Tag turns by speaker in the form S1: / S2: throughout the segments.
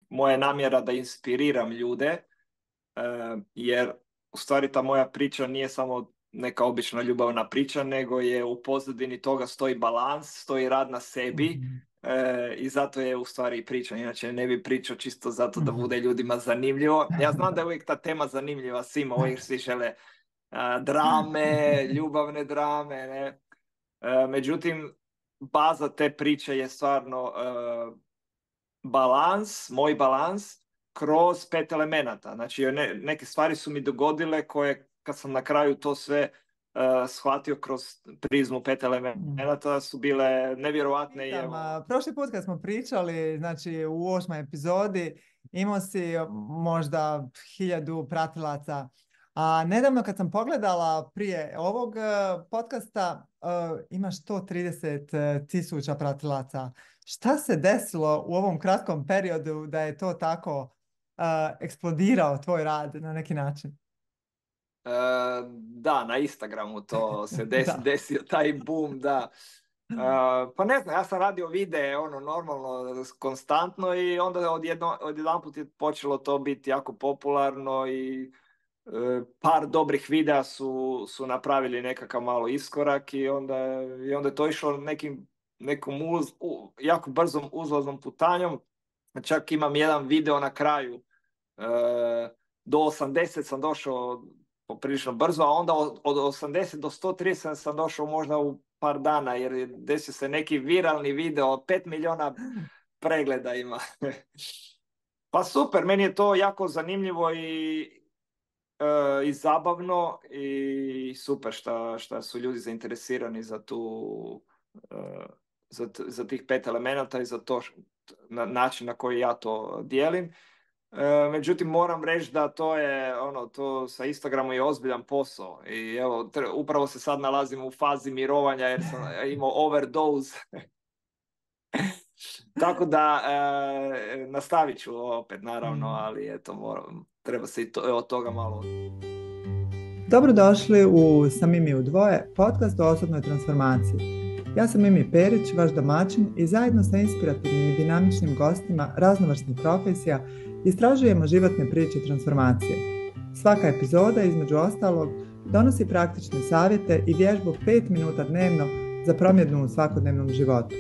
S1: moja namjera da inspiriram ljude, jer u stvari ta moja priča nije samo neka obična ljubavna priča, nego je u pozadini toga stoji balans, stoji rad na sebi,
S2: Mhm.
S1: i zato je u stvari i priča. Inače ne bi pričao čisto zato da
S2: Mhm.
S1: bude ljudima zanimljivo. Ja znam da je uvijek ta tema zanimljiva svima, uvijek svi žele drame, ljubavne drame, ne? Međutim, baza te priče je stvarno balans, moj balans, kroz 5 elemenata. Znači, neke stvari su mi dogodile koje, kad sam na kraju to sve shvatio kroz prizmu 5 elemenata, su bile nevjerojatne i
S2: Pitam,
S1: evo...
S2: prošli put kad smo pričali, znači u 8. epizodi, imao si možda 1000 pratilaca. A nedavno kad sam pogledala prije ovog podcasta, imaš 130 000 pratilaca. Šta se desilo u ovom kratkom periodu da je to tako eksplodirao tvoj rad na neki način?
S1: E, da, na Instagramu to se
S2: Da.
S1: desio taj boom, da. Pa ne znam, ja sam radio videe ono normalno, konstantno i onda odjedanput je počelo to biti jako popularno i par dobrih videa su napravili nekakav malo iskorak i onda je to išlo nekom jako brzom uzlaznom putanjom. Čak imam jedan video na kraju. Do 80 sam došao poprilično brzo, a onda od 80 do 130 sam došao možda u par dana, jer je desio se neki viralni video, 5 milijuna pregleda ima. Pa super, meni je to jako zanimljivo i zabavno i super šta su ljudi zainteresirani za za tih 5 elemenata i za to način na koji ja to dijelim. Međutim, moram reći da to sa Instagramom je ozbiljan posao i evo, upravo se sad nalazim u fazi mirovanja jer sam imao overdose. Tako da nastavit ću opet, naravno, ali eto, treba se i od toga malo...
S2: Dobrodošli u Sa Mimi u dvoje, podcast o osobnoj transformaciji. Ja sam Mimi Perić, vaš domaćin i zajedno sa inspirativnim i dinamičnim gostima raznovrsnih profesija istražujemo životne priče transformacije. Svaka epizoda, između ostalog, donosi praktične savjete i vježbu 5 minuta dnevno za promjenu u svakodnevnom životu.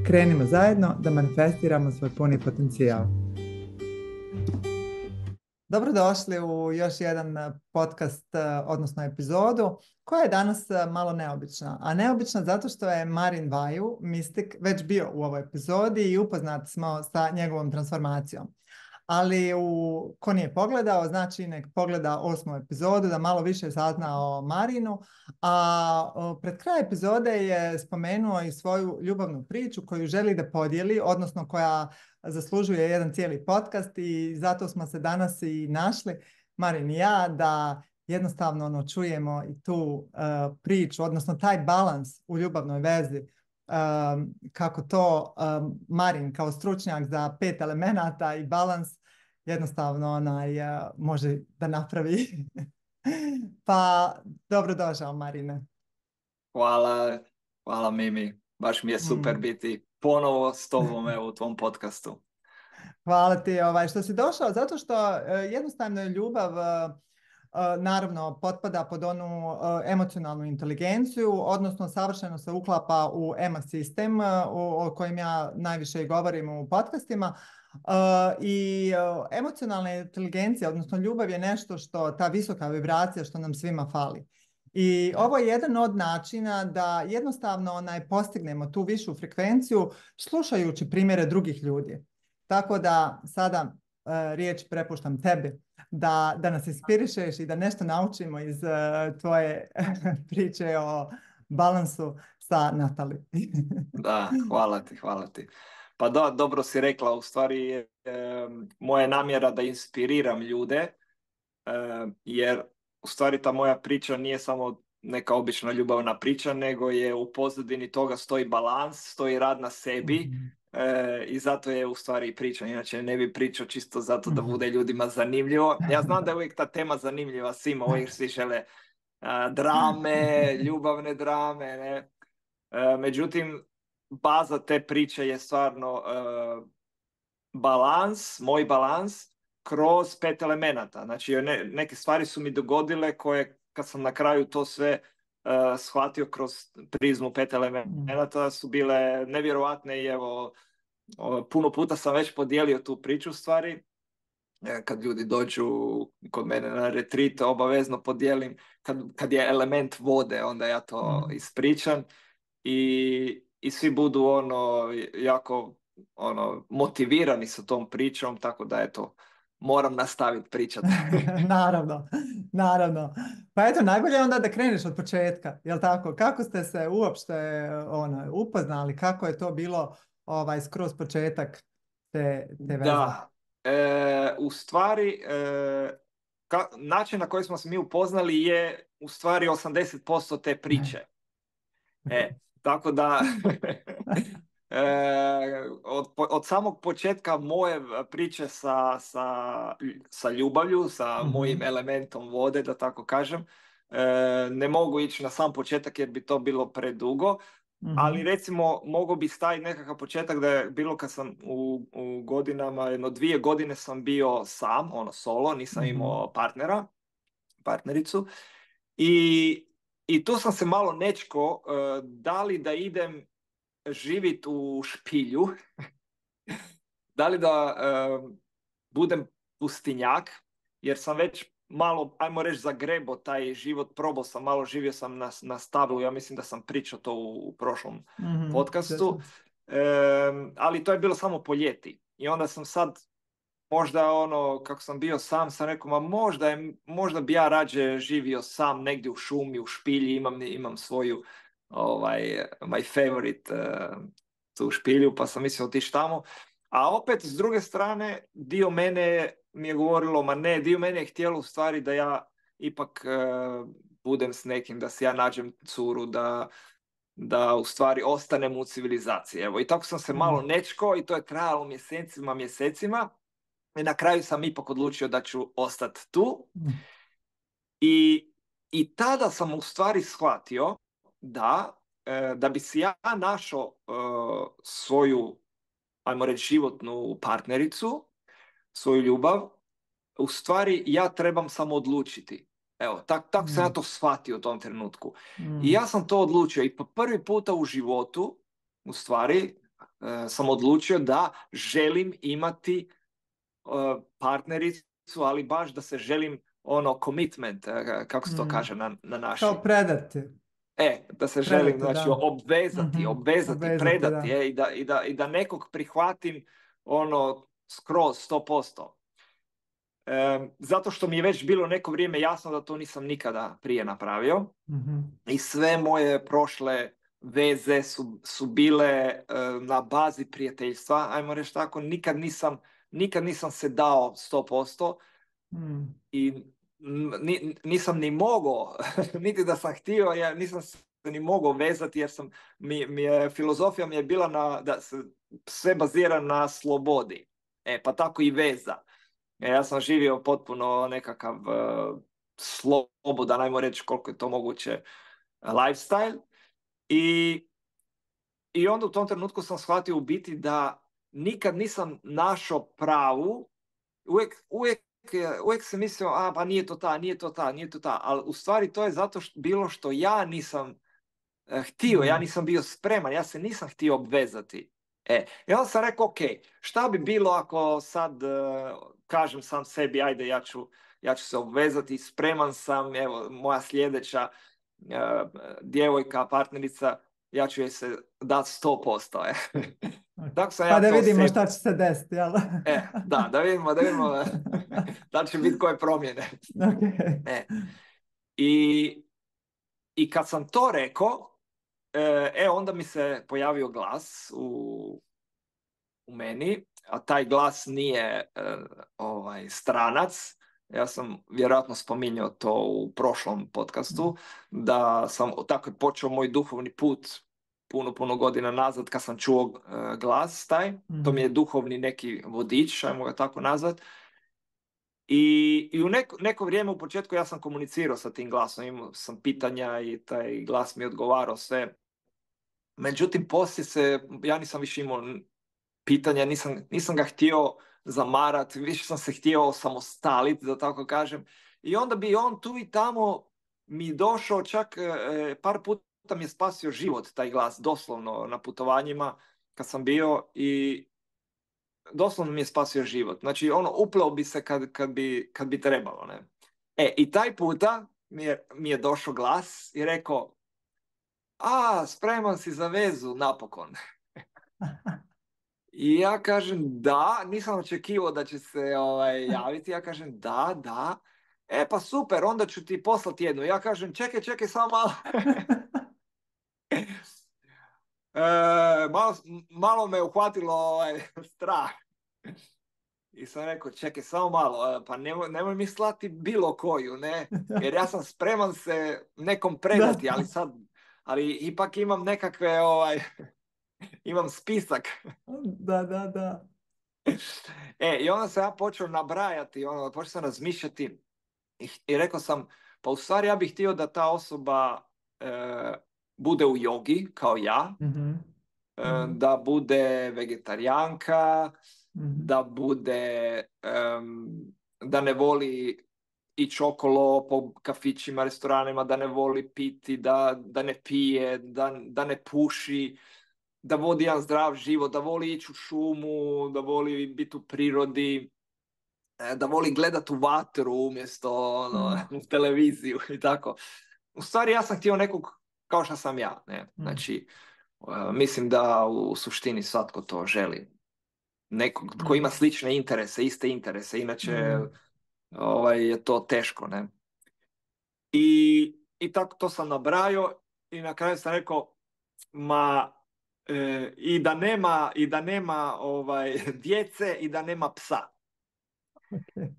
S2: Krenimo zajedno da manifestiramo svoj puni potencijal. Dobrodošli u još jedan podcast, odnosno epizodu, koja je danas malo neobična. A neobična zato što je Marin Vaju, mistik, već bio u ovoj epizodi i upoznati smo sa njegovom transformacijom. Ali ko nije pogledao, znači nek pogleda 8. epizodu da malo više sazna o Marinu. A pred kraj epizode je spomenuo i svoju ljubavnu priču koju želi da podijeli, odnosno koja zaslužuje jedan cijeli podcast i zato smo se danas i našli, Marin i ja, da jednostavno čujemo i tu priču, odnosno taj balans u ljubavnoj vezi. Kako to Marin kao stručnjak za 5 elemenata i balans jednostavno može da napravi. Pa dobrodošao, Marine.
S1: Hvala Mimi, baš mi je super biti ponovo s tobom u tvom podcastu.
S2: Hvala ti što si došao, zato što jednostavno je ljubav naravno potpada pod onu emocionalnu inteligenciju, odnosno savršeno se uklapa u EMA sistem o kojem ja najviše i govorim u podcastima. I emocionalna inteligencija, odnosno ljubav je nešto što, ta visoka vibracija što nam svima fali. I ovo je jedan od načina da jednostavno postignemo tu višu frekvenciju slušajući primjere drugih ljudi. Tako da sada riječ prepuštam tebi da nas inspirišeš i da nešto naučimo iz tvoje priče o balansu sa Natali.
S1: Da, hvala ti. Pa da, dobro si rekla, u stvari moja namjera da inspiriram ljude, jer u stvari ta moja priča nije samo neka obična ljubavna priča, nego je u pozadini toga stoji balans, stoji rad na sebi, i zato je u stvari i priča. Inače ne bi pričao čisto zato da bude ljudima zanimljivo. Ja znam da je uvijek ta tema zanimljiva svima, uvijek svi žele drame, ljubavne drame, ne? Međutim, baza te priče je stvarno moj balans kroz 5 elemenata. Znači, neke stvari su mi dogodile koje, kad sam na kraju to sve shvatio kroz prizmu 5 elemenata, su bile nevjerojatne i evo, puno puta sam već podijelio tu priču stvari. Kad ljudi dođu kod mene na retreat, obavezno podijelim. Kad je element vode, onda ja to ispričam. I svi budu jako motivirani sa tom pričom, tako da eto, moram nastaviti pričati.
S2: Naravno. Pa eto, najbolje je onda da kreneš od početka, jel tako? Kako ste se uopšte upoznali, kako je to bilo skroz početak te veze?
S1: Da, u stvari, način na koji smo se mi upoznali je u stvari 80% te priče. Tako da od samog početka moje priče sa ljubavlju, sa mojim elementom vode, da tako kažem, ne mogu ići na sam početak jer bi to bilo predugo, ali recimo mogu bi staviti nekakav početak da je bilo kad sam u godinama, 2 godine sam bio sam, solo, nisam imao partnericu i tu sam se malo nečko, da li da idem živjeti u Špilju, da li da budem pustinjak, jer sam već malo, ajmo reći, zagrebo taj život, probao sam malo, živio sam na stablu, ja mislim da sam pričao to u prošlom podcastu, ali to je bilo samo po ljeti. I onda sam sad, možda kako sam bio sam rekao, možda bi ja rađe živio sam negdje u šumi, u Špilji, imam svoju my favorite tu Špilju, pa sam mislio otići tamo. A opet, s druge strane, dio mene mi je govorilo, dio mene je htjelo u stvari da ja ipak budem s nekim, da si ja nađem curu, da u stvari ostanem u civilizaciji. Evo, i tako sam se malo nečko i to je trajalo mjesecima. I na kraju sam ipak odlučio da ću ostati tu. I tada sam u stvari shvatio da bi si ja našao svoju, ajmo reći, životnu partnericu, svoju ljubav, u stvari ja trebam samo odlučiti. Evo, tako sam ja to shvatio u tom trenutku. I ja sam to odlučio i po prvi puta u životu, u stvari, sam odlučio da želim imati partnericu, ali baš da se želim commitment, kako se to kaže na naši.
S2: Kao predati.
S1: Da se želim, znači, obvezati, predati,
S2: da.
S1: I da nekog prihvatim skroz 100%. Zato što mi je već bilo neko vrijeme jasno da to nisam nikada prije napravio. I sve moje prošle veze su bile na bazi prijateljstva, ajmo reći tako. Nikad nisam se dao 100%. I nisam ni mogao, niti da sam htio, ja nisam se ni mogao vezati, jer filozofija mi je bila da se sve bazira na slobodi. Pa tako i veza. Ja sam živio potpuno nekakav slobodan, ajmo reći koliko je to moguće, lifestyle. I onda u tom trenutku sam shvatio u biti da nikad nisam našao pravu, uvijek sam mislio, pa nije to ta, ali u stvari to je zato bilo što ja nisam htio, ja nisam bio spreman, ja se nisam htio obvezati. I onda sam rekao, ok, šta bi bilo ako sad kažem sam sebi, ajde, ja ću se obvezati, spreman sam, evo, moja sljedeća djevojka, partnerica, ja ću joj se dati 100%. Tako sam
S2: pa da vidimo šta će se desiti, jel?
S1: Da vidimo da će biti koje promjene.
S2: Okay.
S1: I kad sam to rekao, onda mi se pojavio glas u meni, a taj glas nije stranac. Ja sam vjerojatno spominjao to u prošlom podcastu, da sam tako počeo moj duhovni put puno godina nazad, kad sam čuo glas taj. To mi je duhovni neki vodič, ajmo ga tako nazvat. I u neko vrijeme u početku ja sam komunicirao sa tim glasom, imao sam pitanja i taj glas mi je odgovarao sve. Međutim, poslije ja nisam više imao pitanja, nisam ga htio zamarati, više sam se htio samostaliti, da tako kažem. I onda bi on tu i tamo mi došao, čak par puta mi je spasio život taj glas, doslovno na putovanjima kad sam bio, i doslovno mi je spasio život. Znači, upleo bi se kad bi trebalo, ne? I taj puta mi je došao glas i rekao, spreman si za vezu, napokon. I ja kažem da, nisam očekivao da će se javiti. Ja kažem da. Pa super, onda ću ti poslati jednu. Ja kažem čekaj samo malo. Malo me uhvatilo strah. I sam rekao, čekaj samo malo, pa nemoj mi slati bilo koju, ne? Jer ja sam spreman se nekom predati, ali ipak imam nekakve, imam spisak.
S2: Da.
S1: I onda sam ja počeo nabrajati, počeo sam razmišljati i rekao sam, pa u stvari ja bih htio da ta osoba bude u jogi, kao ja, da bude vegetarijanka, da bude, da ne voli ići okolo po kafićima, restoranima, da ne voli piti, da ne pije, da ne puši, da vodi jedan zdrav život, da voli ići u šumu, da voli biti u prirodi, da voli gledati u vatru umjesto u televiziju i tako. U stvari ja sam htio nekog kao što sam ja, ne? Znači, mislim da u suštini svatko to želi. Nekog tko ima slične interese, iste interese, inače je to teško, ne? I tako to sam nabrajao i na kraju sam rekao, i da nema djece i da nema psa.
S2: Okay.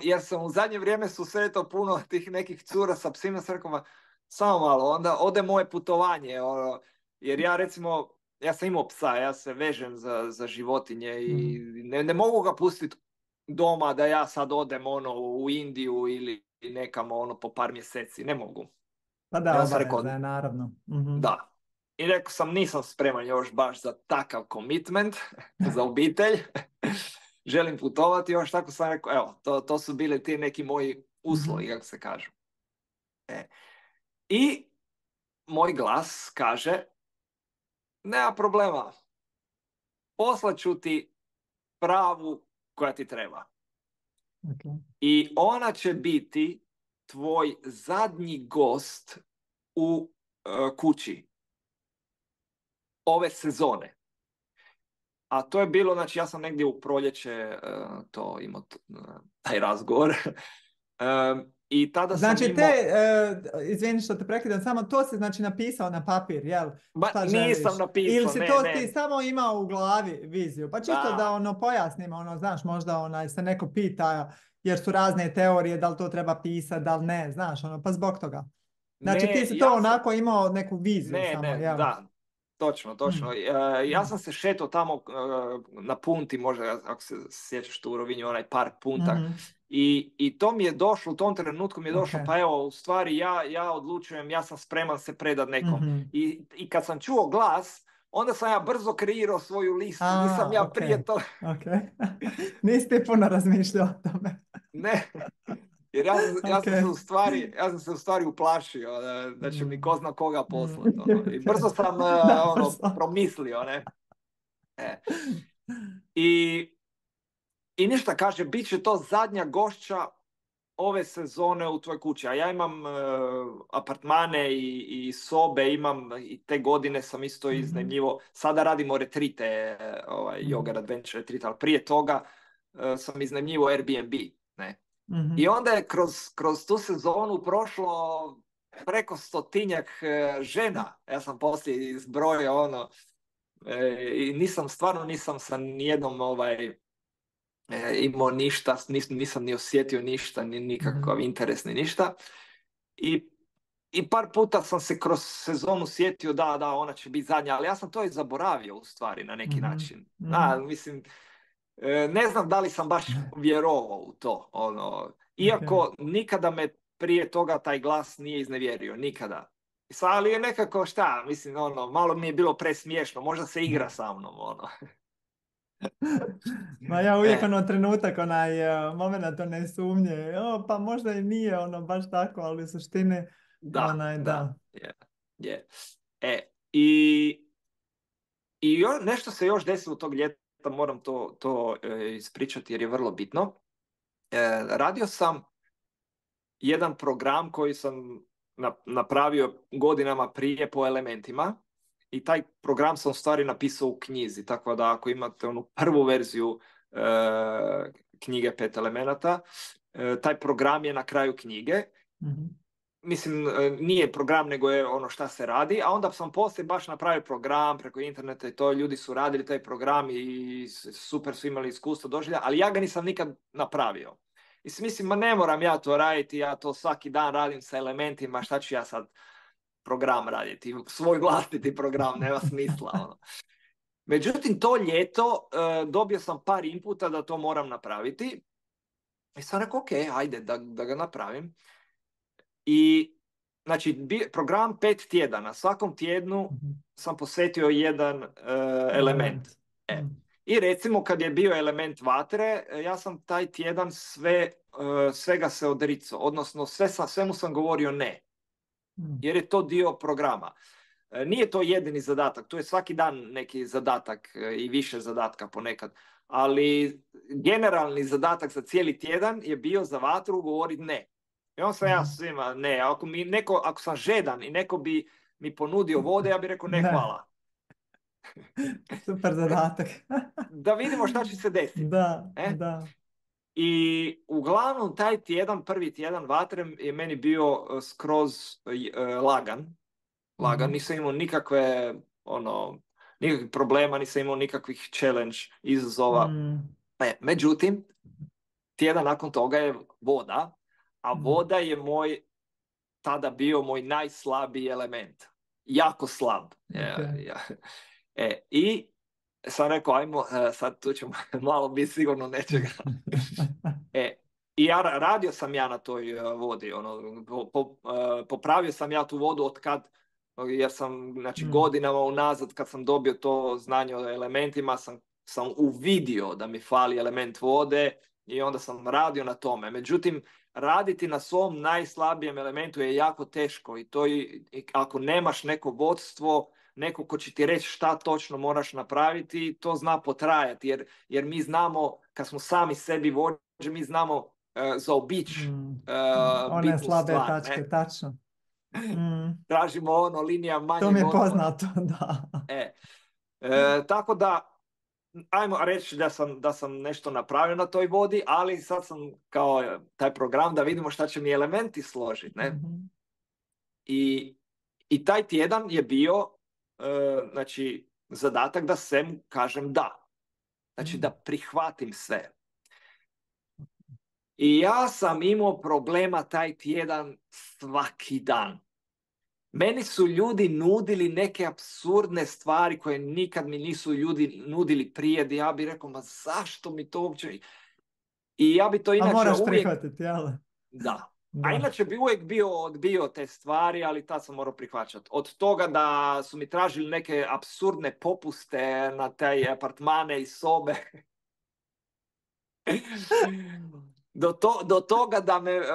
S1: Jer sam u zadnje vrijeme susretao puno tih nekih cura sa psima, sam rekao, samo malo, onda ode moje putovanje, jer ja sam imao psa, ja se vežem za životinje i ne mogu ga pustiti doma da ja sad odem u Indiju ili nekam po par mjeseci, ne mogu.
S2: Pa da, obaveza je, naravno.
S1: Da. I rekao sam, nisam spreman još baš za takav commitment, za obitelj. Želim putovati, još tako sam rekao, evo, to su bili ti neki moji uslovi, kako se kažu. I moj glas kaže, nema problema, poslaću ti pravu koja ti treba.
S2: Okay.
S1: I ona će biti tvoj zadnji gost u kući ove sezone. A to je bilo, znači ja sam negdje u proljeće to imao taj razgovor. I tada
S2: znači
S1: sam imao...
S2: izvini što te prekidam, samo to si znači napisao na papir, jel?
S1: Šta nisam napisao,
S2: ili si to ti samo imao u glavi viziju? Pa čisto da pojasnimo, znaš, možda se neko pita, jer su razne teorije, da li to treba pisati, da li ne, znaš, pa zbog toga. Znači ti si to onako imao neku viziju samo, jel?
S1: Da. Točno. Ja sam se šetao tamo na punti, možda ako se sjećaš tu u Rovinju, onaj park punta. I to mi je došlo, u tom trenutku mi je došlo, pa evo, u stvari ja odlučujem, ja sam spreman se predat nekom. I kad sam čuo glas, onda sam ja brzo kreirao svoju listu. Nisam ja prije to...
S2: Nisi ti puno razmišljao o tome.
S1: Ne. Jer ja sam se u stvari uplašio da će mi ko zna koga poslati. I brzo sam promislio. Ne? I ništa, kaže, bit će to zadnja gošća ove sezone u tvojoj kući. A ja imam apartmane i sobe, imam i te godine sam isto iznajmljivo. Sada radimo retrite, yoga adventure retreat, ali prije toga sam iznajmljivo Airbnb. Ne? I onda je kroz tu sezonu prošlo preko 100-tinjak žena. Ja sam poslije izbrojio i nisam sa nijednom imao ništa, nisam ni osjetio ništa, ni nikakav interes, ni ništa. I par puta sam se kroz sezonu sjetio da, ona će biti zadnja, ali ja sam to i zaboravio u stvari na neki način. Mislim, ne znam da li sam baš vjerovao u to. Iako nikada me prije toga taj glas nije iznevjerio, nikada. Ali je nekako mislim, malo mi je bilo presmiješno, možda se igra sa mnom,
S2: Ma ja uvijek
S1: E,
S2: trenutak, moment one sumnje, pa možda i nije baš tako, ali u suštini,
S1: da,
S2: da.
S1: je. Nešto se još desilo tog ljeta, moram to ispričati jer je vrlo bitno. Radio sam jedan program koji sam napravio godinama prije po elementima i taj program sam u stvari napisao u knjizi, tako da ako imate onu prvu verziju knjige 5 elemenata, taj program je na kraju knjige.
S2: Mhm.
S1: Mislim, nije program, nego je ono šta se radi, a onda sam poslije baš napravio program preko interneta i to, ljudi su radili taj program i super su imali iskustvo doživlja, ali ja ga nisam nikad napravio. I mislim, ma ne moram ja to raditi, ja to svaki dan radim sa elementima, šta ću ja sad program raditi, svoj vlastiti program, nema smisla. Ono. Međutim, to ljeto dobio sam par inputa da to moram napraviti i sam rekao, ok, ajde da ga napravim. I znači, program 5 tjedana. Svakom tjednu sam posvetio jedan element. I recimo kad je bio element vatre, ja sam taj tjedan svega se odricao. Odnosno svemu sam govorio ne. Jer je to dio programa. Nije to jedini zadatak. Tu je svaki dan neki zadatak i više zadatka ponekad. Ali generalni zadatak za cijeli tjedan je bio za vatru govoriti ne. I on sam ja svima, ne, ako sam žedan i neko bi mi ponudio vode, ja bih rekao ne, hvala.
S2: Super zadatak.
S1: Da vidimo šta će se desiti.
S2: Da.
S1: I uglavnom taj tjedan, prvi tjedan vatre je meni bio skroz lagan. Nisam imao nikakve nikakvih problema, nisam imao nikakvih challenge, izazova. Međutim, tjedan nakon toga je voda, a voda je tada bio moj najslabiji element. Jako slab.
S2: Okay.
S1: I sam rekao, ajmo, sad tu ćemo malo biti sigurno nečega. I radio sam ja na toj vodi. Popravio sam ja tu vodu od kad, jer sam godinama unazad kad sam dobio to znanje o elementima, sam uvidio da mi fali element vode i onda sam radio na tome. Međutim, raditi na svom najslabijem elementu je jako teško i ako nemaš neko vodstvo, neko ko će ti reći šta točno moraš napraviti, to zna potrajati, jer mi znamo, kad smo sami sebi vođe, mi znamo zaobići
S2: one
S1: bitnu
S2: slabe
S1: stvar.
S2: tačke, tačno.
S1: Tražimo linija manjeg
S2: to mi je
S1: otpora.
S2: poznato, da.
S1: Tako da, ajmo reći da sam nešto napravio na toj vodi, ali sad sam kao taj program da vidimo šta će mi elementi složiti. Ne? I taj tjedan je bio zadatak da svemu kažem da. Znači da prihvatim sve. I ja sam imao problema taj tjedan svaki dan. Meni su ljudi nudili neke apsurdne stvari koje nikad mi nisu ljudi nudili prije, da ja bih rekao, ma zašto mi to uopće... I ja bi to inače
S2: moraš
S1: uvijek...
S2: prihvatiti, jel?
S1: Da. A inače bi uvijek odbio te stvari, ali tad sam morao prihvaćati. Od toga da su mi tražili neke apsurdne popuste na taj apartmane i sobe. Do toga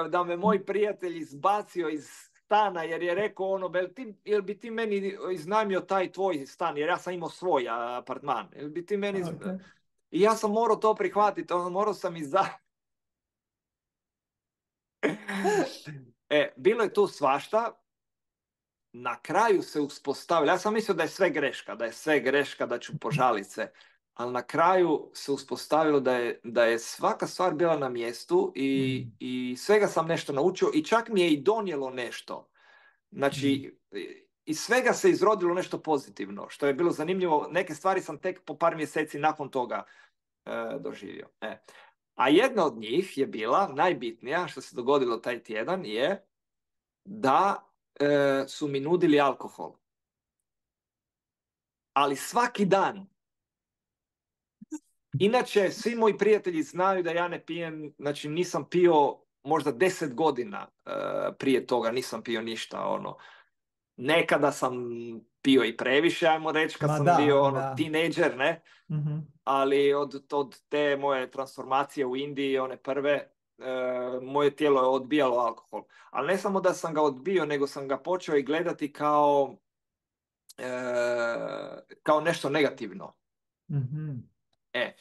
S1: da me moj prijatelj izbacio iz stana jer je rekao jel bi ti meni iznajmio taj tvoj stan, jer ja sam imao svoj apartman. Jel bi ti meni... Okay. I ja sam morao to prihvatiti, morao sam bilo je tu svašta. Na kraju se uspostavilo, ja sam mislio da je sve greška, da ću požaliti se, ali na kraju se uspostavilo da je svaka stvar bila na mjestu i svega sam nešto naučio i čak mi je i donijelo nešto. Znači, iz svega se izrodilo nešto pozitivno, što je bilo zanimljivo. Neke stvari sam tek po par mjeseci nakon toga doživio. A jedna od njih je bila, najbitnija što se dogodilo taj tjedan, je da su mi nudili alkohol. Ali svaki dan. Inače, svi moji prijatelji znaju da ja ne pijem, znači nisam pio možda 10 godina prije toga, nisam pio ništa, nekada sam pio i previše, ajmo reći, kad
S2: Ma
S1: sam bio
S2: da,
S1: ono
S2: da.
S1: tinejdžer, ne?
S2: Mhm.
S1: Ali od te moje transformacije u Indiji, one prve, moje tijelo je odbijalo alkohol. Ali ne samo da sam ga odbio, nego sam ga počeo i gledati kao nešto negativno.
S2: Mhm.
S1: E.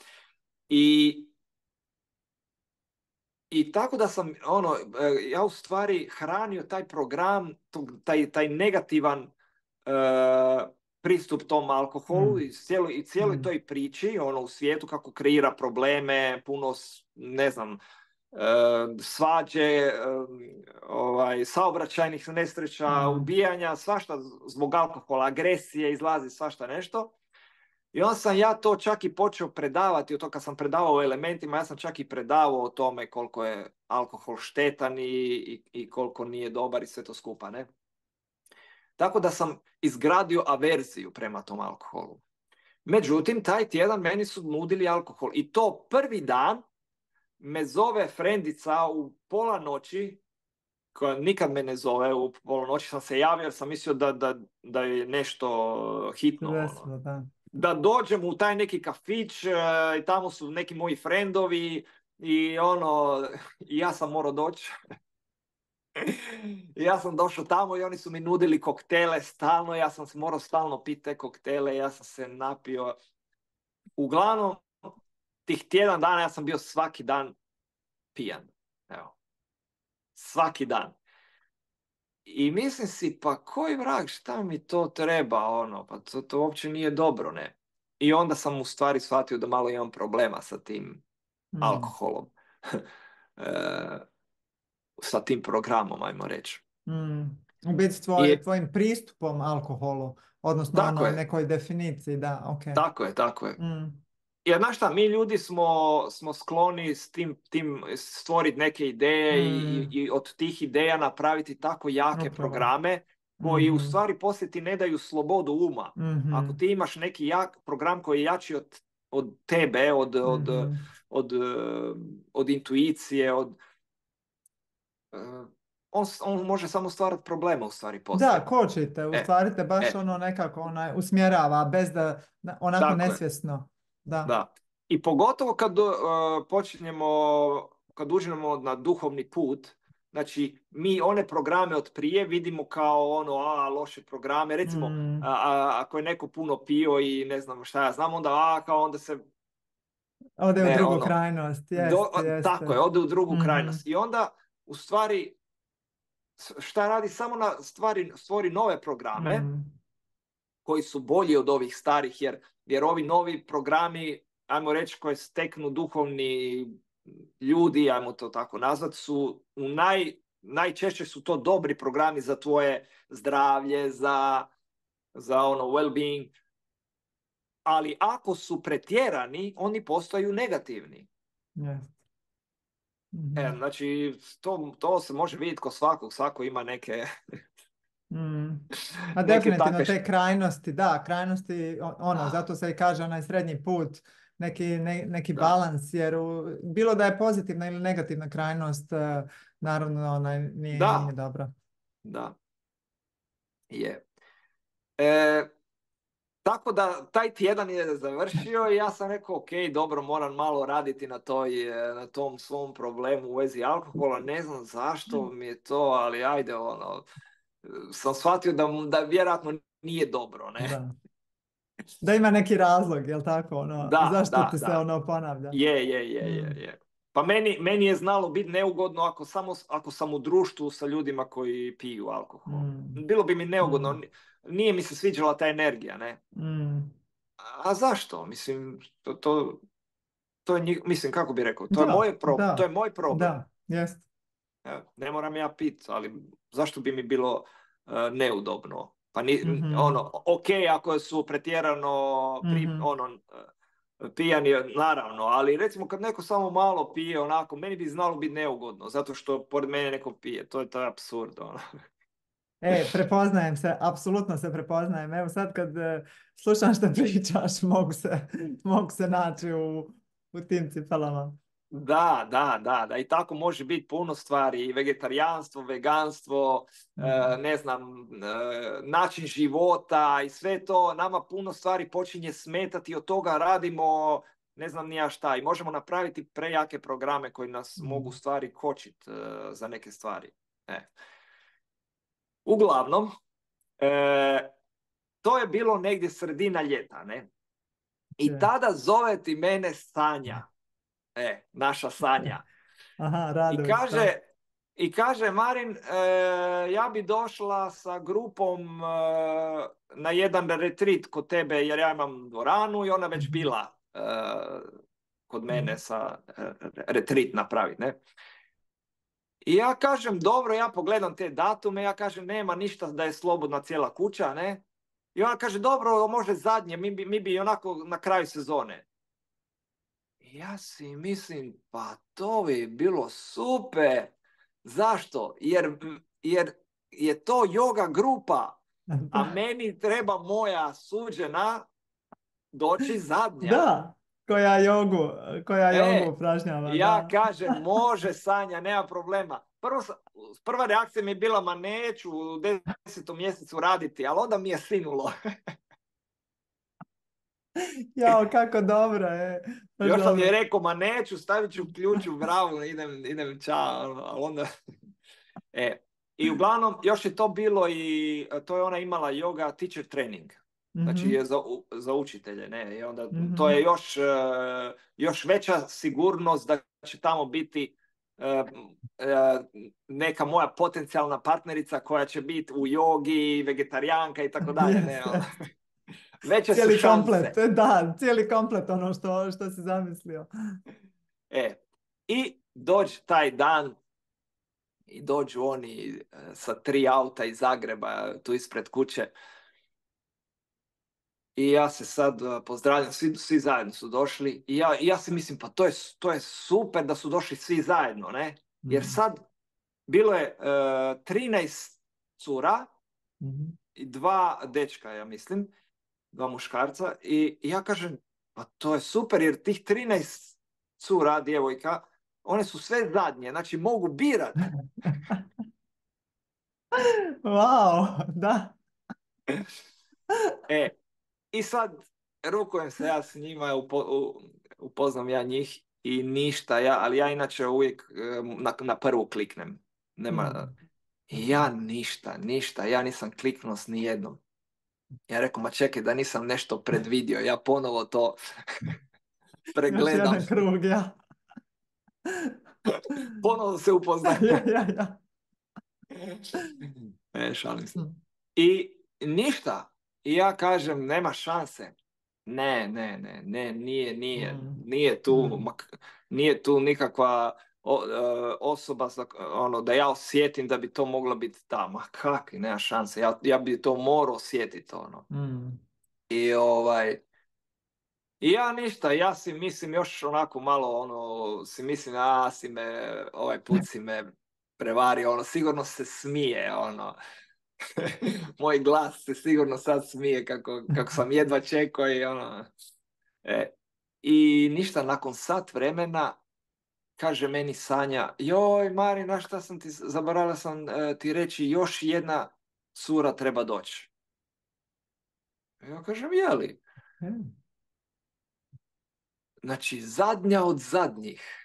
S1: I tako da sam, ja u stvari hranio taj program, taj negativan pristup tom alkoholu
S2: Mm.
S1: i cijeloj
S2: Mm.
S1: toj priči, u svijetu kako kreira probleme, puno, ne znam, svađe, saobraćajnih nesreća,
S2: Mm.
S1: ubijanja, svašta zbog alkohola, agresije, izlazi svašta nešto. I onda sam ja to čak i počeo predavati, od to kad sam predavao o elementima, ja sam čak i predavao o tome koliko je alkohol štetan i koliko nije dobar i sve to skupa, ne? Tako da sam izgradio averziju prema tom alkoholu. Međutim, taj tjedan meni su nudili alkohol i to prvi dan me zove frendica u pola noći, koja nikad me ne zove, u pola noći sam se javio jer sam mislio da je nešto hitno,
S2: Desno, da.
S1: da dođem u taj neki kafić i tamo su neki moji frendovi i i ja sam morao doći. I ja sam došao tamo i oni su mi nudili koktele stalno, ja sam se morao stalno piti te koktele, ja sam se napio. Uglavnom, tih tjedan dana ja sam bio svaki dan pijan. Evo. Svaki dan. I mislim si, pa koji vrag, šta mi to treba, pa to uopće nije dobro, ne? I onda sam u stvari shvatio da malo imam problema sa tim
S2: Mm.
S1: alkoholom. Sa tim programom, ajmo reći.
S2: Mm. U biti
S1: I
S2: tvojim pristupom alkoholu, odnosno
S1: tako je,
S2: nekoj definiciji, da, ok.
S1: tako je.
S2: Mm.
S1: Jer znaš šta, mi ljudi smo skloni s tim stvoriti neke ideje
S2: Mm.
S1: i od tih ideja napraviti tako jake
S2: Upravo.
S1: programe koji u
S2: Mhm.
S1: stvari poslije ti ne daju slobodu uma. Ako
S2: Mhm.
S1: ti imaš neki jak program koji je jači od tebe,
S2: Mhm.
S1: od, od intuicije, on može samo stvarati probleme u stvari
S2: Da,
S1: poslije.
S2: kočite, u
S1: E,
S2: stvari te baš
S1: e,
S2: nekako usmjerava, bez da, onako
S1: tako je.
S2: nesvjesno. Da.
S1: Da. I pogotovo kad počinjemo, kad uđemo na duhovni put, znači mi one programe od prije vidimo kao loše programe. Recimo,
S2: Mm.
S1: ako je neko puno pio i ne znam šta ja znam, onda se,
S2: Ode u
S1: ne,
S2: drugu krajnost,
S1: tako
S2: jeste.
S1: je, ode u drugu
S2: Mhm.
S1: krajnost. I onda, u stvari, šta radi? Samo stvori nove programe
S2: Mm.
S1: koji su bolji od ovih starih, jer ovi novi programi, ajmo reći, koje steknu duhovni ljudi, ajmo to tako nazvat, su najčešće su to dobri programi za tvoje zdravlje, za well-being, ali ako su pretjerani, oni postaju negativni.
S2: Jeste. Mhm.
S1: Znači, to se može vidjeti kod svako ima neke,
S2: Mm. A
S1: neke
S2: definitivno
S1: takve...
S2: te krajnosti, da, krajnosti,
S1: Da,
S2: zato se i kaže onaj srednji put, neki
S1: da,
S2: balans, jer bilo da je pozitivna ili negativna krajnost, naravno nije
S1: da,
S2: dobro.
S1: da, je. E, Tako da taj tjedan je završio i ja sam rekao, ok, dobro, moram malo raditi na tom svom problemu u vezi alkohola. Ne znam zašto mi je to, ali ajde, sam shvatio da vjerojatno nije dobro, ne?
S2: Da. Da ima neki razlog, jel tako, zašto ti se
S1: Da.
S2: ponavlja? Mm.
S1: Je. Pa meni je znalo biti neugodno ako sam u društvu sa ljudima koji piju alkohol.
S2: Mm.
S1: Bilo bi mi neugodno,
S2: Mm.
S1: nije mi se sviđala ta energija, ne?
S2: Mm.
S1: A zašto? Mislim, to je mislim, kako bi rekao,
S2: Da,
S1: to je moj problem.
S2: da, jest.
S1: Evo, ne moram ja pit, ali zašto bi mi bilo neudobno? Pa
S2: Mhm.
S1: ok, ako su pretjerano
S2: Mhm.
S1: pijani, naravno, ali recimo kad neko samo malo pije, onako, meni bi znalo biti neugodno, zato što pored mene neko pije, to je apsurd,
S2: Prepoznajem se, apsolutno se prepoznajem. Evo sad kad slušam što pričaš, mogu se naći u tim cipelama.
S1: Da. I tako može biti puno stvari. I vegetarijanstvo, veganstvo, ne znam, način života i sve to. Nama puno stvari počinje smetati, od toga radimo ne znam ni ja šta. I možemo napraviti prejake programe koji nas mogu stvari kočiti za neke stvari. Uglavnom, to je bilo negdje sredina ljeta, ne? I tada zove ti mene Sanja. Naša Sanja.
S2: Aha,
S1: I
S2: Radović,
S1: kaže Marin, ja bi došla sa grupom na jedan retreat kod tebe, jer ja imam dvoranu i ona već bila kod mene sa retreat napraviti, ne? I ja kažem, dobro, ja pogledam te datume, ja kažem, nema ništa da je slobodna cijela kuća, ne? I ona kaže, dobro, može zadnje, mi bi onako na kraju sezone. I ja si mislim, pa to bi bilo super. Zašto? Jer je to yoga grupa, a meni treba moja suđena doći zadnja.
S2: Da, koja jogu upražnjava.
S1: Ja kažem, može Sanja, nema problema. Prva reakcija mi je bila, ma neću u 10. mjesecu raditi, ali onda mi je sinulo.
S2: Jao, kako dobro je.
S1: Još sam je rekao, ma neću, stavit ću ključ u bravu, idem ča, ali onda... I uglavnom, još je to bilo i to je ona imala yoga teacher training. Znači je za učitelje, ne? I onda to je još veća sigurnost da će tamo biti neka moja potencijalna partnerica koja će biti u jogi, vegetarijanka i tako dalje, ne? Veće su šanse.
S2: Komplet, da, cijeli komplet ono što si zamislio.
S1: I dođe taj dan i dođu oni sa 3 auta iz Zagreba tu ispred kuće. I ja se sad pozdravljam, svi zajedno su došli. I ja si mislim, pa to je super da su došli svi zajedno, ne? Jer sad bilo je 13 cura i 2 dečka, ja mislim. 2 muškarca i ja kažem, pa to je super jer tih 13 cura, djevojka, one su sve zadnje, znači mogu birati.
S2: Wow, da.
S1: I sad rukujem se ja s njima, upoznam ja njih i ništa, ali ja inače uvijek na prvu kliknem. I ja ništa, ja nisam kliknuo s nijednom. Ja rekao, ma čekaj, da nisam nešto predvidio, ja ponovo to pregledam.
S2: Još jedan krug, ja.
S1: Ponovo se upoznam. Šalim se. I ništa. I ja kažem, nema šanse. Ne, nije tu nikakva osoba da ja osjetim da bi to mogla biti ta. Ma kakvi, nema šanse. Ja bi to morao osjetiti. I ja ništa, ja si mislim još onako malo si mislim, ovaj put si me prevario, sigurno se smije, moj glas se sigurno sad smije kako sam jedva čekao i I ništa, nakon sat vremena kaže meni Sanja, joj Marina, šta sam ti, zaboravila sam ti reći, još jedna cura treba doći. Ja kažem, jeli? Znači, zadnja od zadnjih.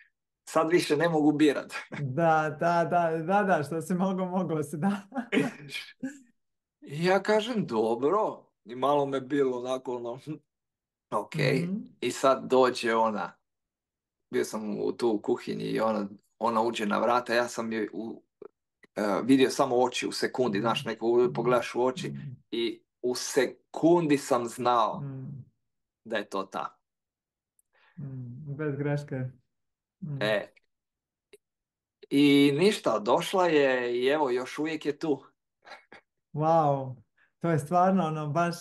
S1: Sad više ne mogu birat.
S2: Da, što si mogao si, da.
S1: I ja kažem, dobro. I malo me bilo onako, ok. I sad dođe ona. Bio sam tu u kuhinji i ona uđe na vrata. Ja sam joj vidio samo oči u sekundi. Znaš, neko pogledaš u oči i u sekundi sam znao da je to ta.
S2: Bez greške.
S1: I ništa, došla je i evo, još uvijek je tu.
S2: Wow, to je stvarno baš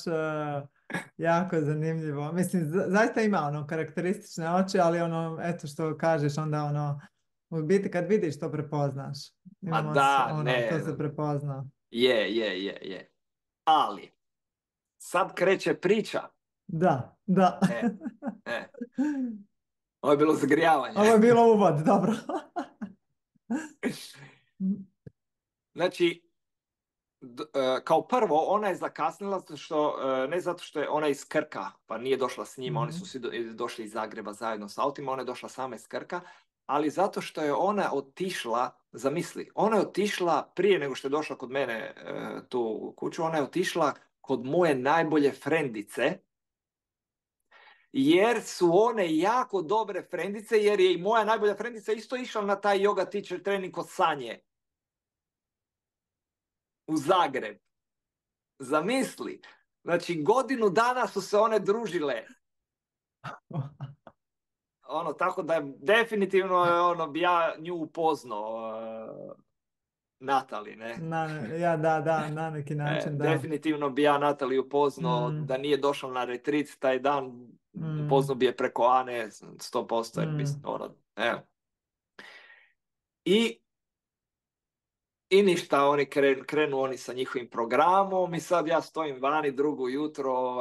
S2: jako zanimljivo. Mislim, zaista ima karakteristične oči, ali eto što kažeš, onda u biti kad vidiš to prepoznaš. To se prepozna.
S1: Je. Ali, sad kreće priča.
S2: Da.
S1: Ovo je bilo zagrijavanje.
S2: Ovo je bilo uvod, dobro.
S1: Znači, kao prvo, ona je zakasnila, ne zato što je ona iz Krka, pa nije došla s njima, oni su svi došli iz Zagreba zajedno s autima, ona je došla sama iz Krka, ali zato što je ona otišla, zamisli, ona je otišla prije nego što je došla kod mene tu u kuću, ona je otišla kod moje najbolje frendice, jer su one jako dobre frendice, jer je i moja najbolja frendica isto išla na taj yoga teacher trening kod Sanje u Zagreb. Zamisli. Znači, godinu dana su se one družile. Tako da je definitivno bi ja nju upoznao, Natali, ne?
S2: Na neki način, da.
S1: Definitivno bi ja Natali upoznao, da nije došao na retreat taj dan, upoznao bi je preko Ane, 100%, jer evo. I ništa, oni krenu oni sa njihovim programom i sad ja stojim vani drugo jutro,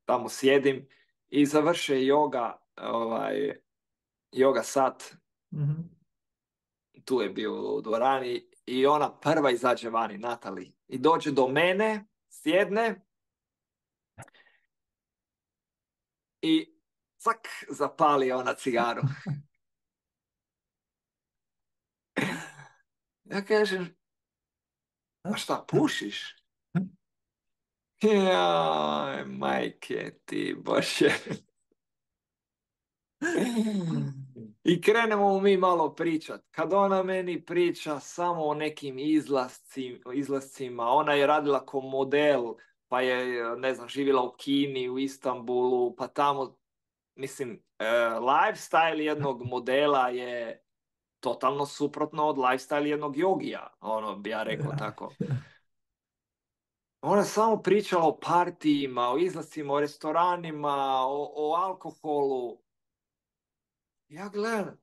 S1: tamo sjedim i završe yoga sat. Tu je bio u dvorani i ona prva izađe vani, Natali, i dođe do mene, sjedne i cak, zapali ona cigaru. Ja kažem, a šta, pušiš? Jaj, majke ti, Bože. I krenemo mi malo pričat. Kad ona meni priča samo o nekim izlascima, ona je radila ko model, pa je, ne znam, živjela u Kini, u Istanbulu, pa tamo, mislim, lifestyle jednog modela je totalno suprotno od lifestyle jednog jogija, bi ja rekao tako. Ona je samo pričala o partijima, o izlascima, o restoranima, o alkoholu. Ja gledam,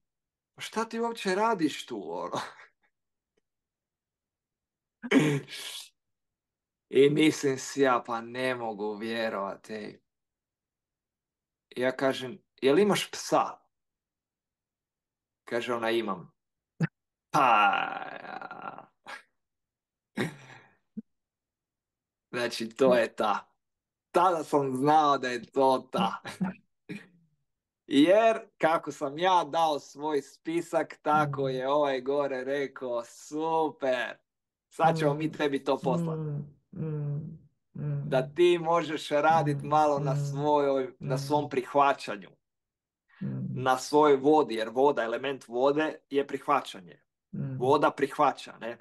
S1: šta ti uopće radiš tu, I mislim si ja, pa ne mogu vjerovati. Ja kažem, jel imaš psa? Kaže ona, imam. Pa... Znači, to je ta. Tada sam znao da je to ta. Jer kako sam ja dao svoj spisak, tako je ovaj gore rekao, super, sad ćemo mi tebi to poslati. Da ti možeš raditi malo na svom prihvaćanju. Na svojoj vodi, jer voda, element vode je prihvaćanje. Voda prihvaća, ne?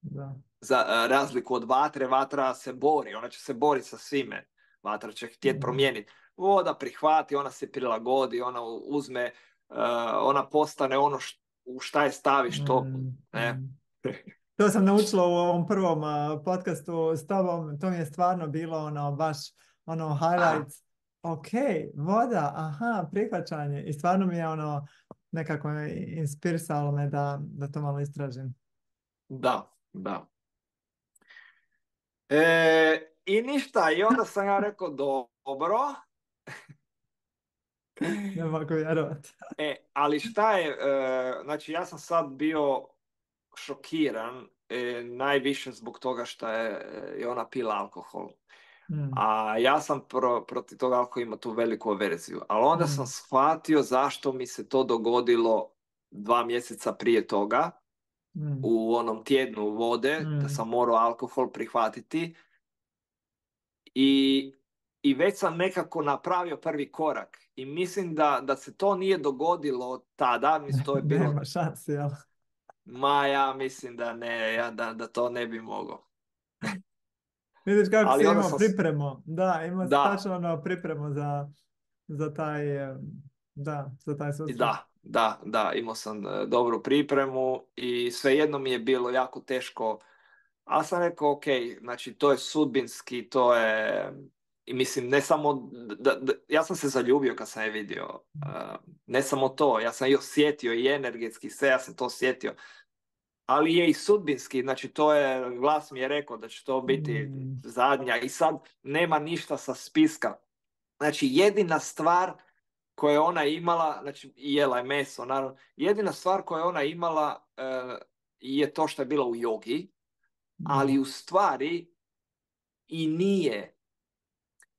S2: Da.
S1: Za razliku od vatre, vatra se bori, ona će se boriti sa svime. Vatra će htjeti promijeniti. Voda prihvati, ona se prilagodi, ona uzme, ona postane ono u šta je staviš to. Ne?
S2: To sam naučila u ovom prvom podcastu s tobom, to mi je stvarno bilo baš highlights. Ok, voda, aha, prihvaćanje. I stvarno mi je nekako inspirisalo me da to malo istražim.
S1: Da. I ništa, i onda sam ja rekao, dobro.
S2: Ne mogu vjerovati.
S1: Ali šta je, znači ja sam sad bio šokiran, najviše zbog toga što je ona pila alkohol. A ja sam protiv toga ako ima tu veliku averziju. Ali onda sam shvatio zašto mi se to dogodilo 2 mjeseca prije toga, u onom tjednu vode, da sam morao alkohol prihvatiti. I već sam nekako napravio prvi korak. I mislim da se to nije dogodilo tada. Mislim, to je bilo...
S2: Nema šanse, jel?
S1: Ma ja mislim da ne, da to ne bi mogao.
S2: Vidiš kako si imao pripremu. Da, imao si tačno pripremu za taj susret.
S1: Da, imao sam dobru pripremu i svejedno mi je bilo jako teško. Ali sam rekao, ok, znači to je sudbinski, to je... I mislim, ne samo... ja sam se zaljubio kad sam je vidio. Ne samo to, ja sam i osjetio i energetski, sve ja sam to osjetio. Ali je i sudbinski, znači to je, glas mi je rekao da će to biti zadnja i sad nema ništa sa spiska. Znači jedina stvar koje ona imala, znači jela je meso, naravno, jedina stvar koju je ona imala je to što je bila u jogi, ali u stvari i nije.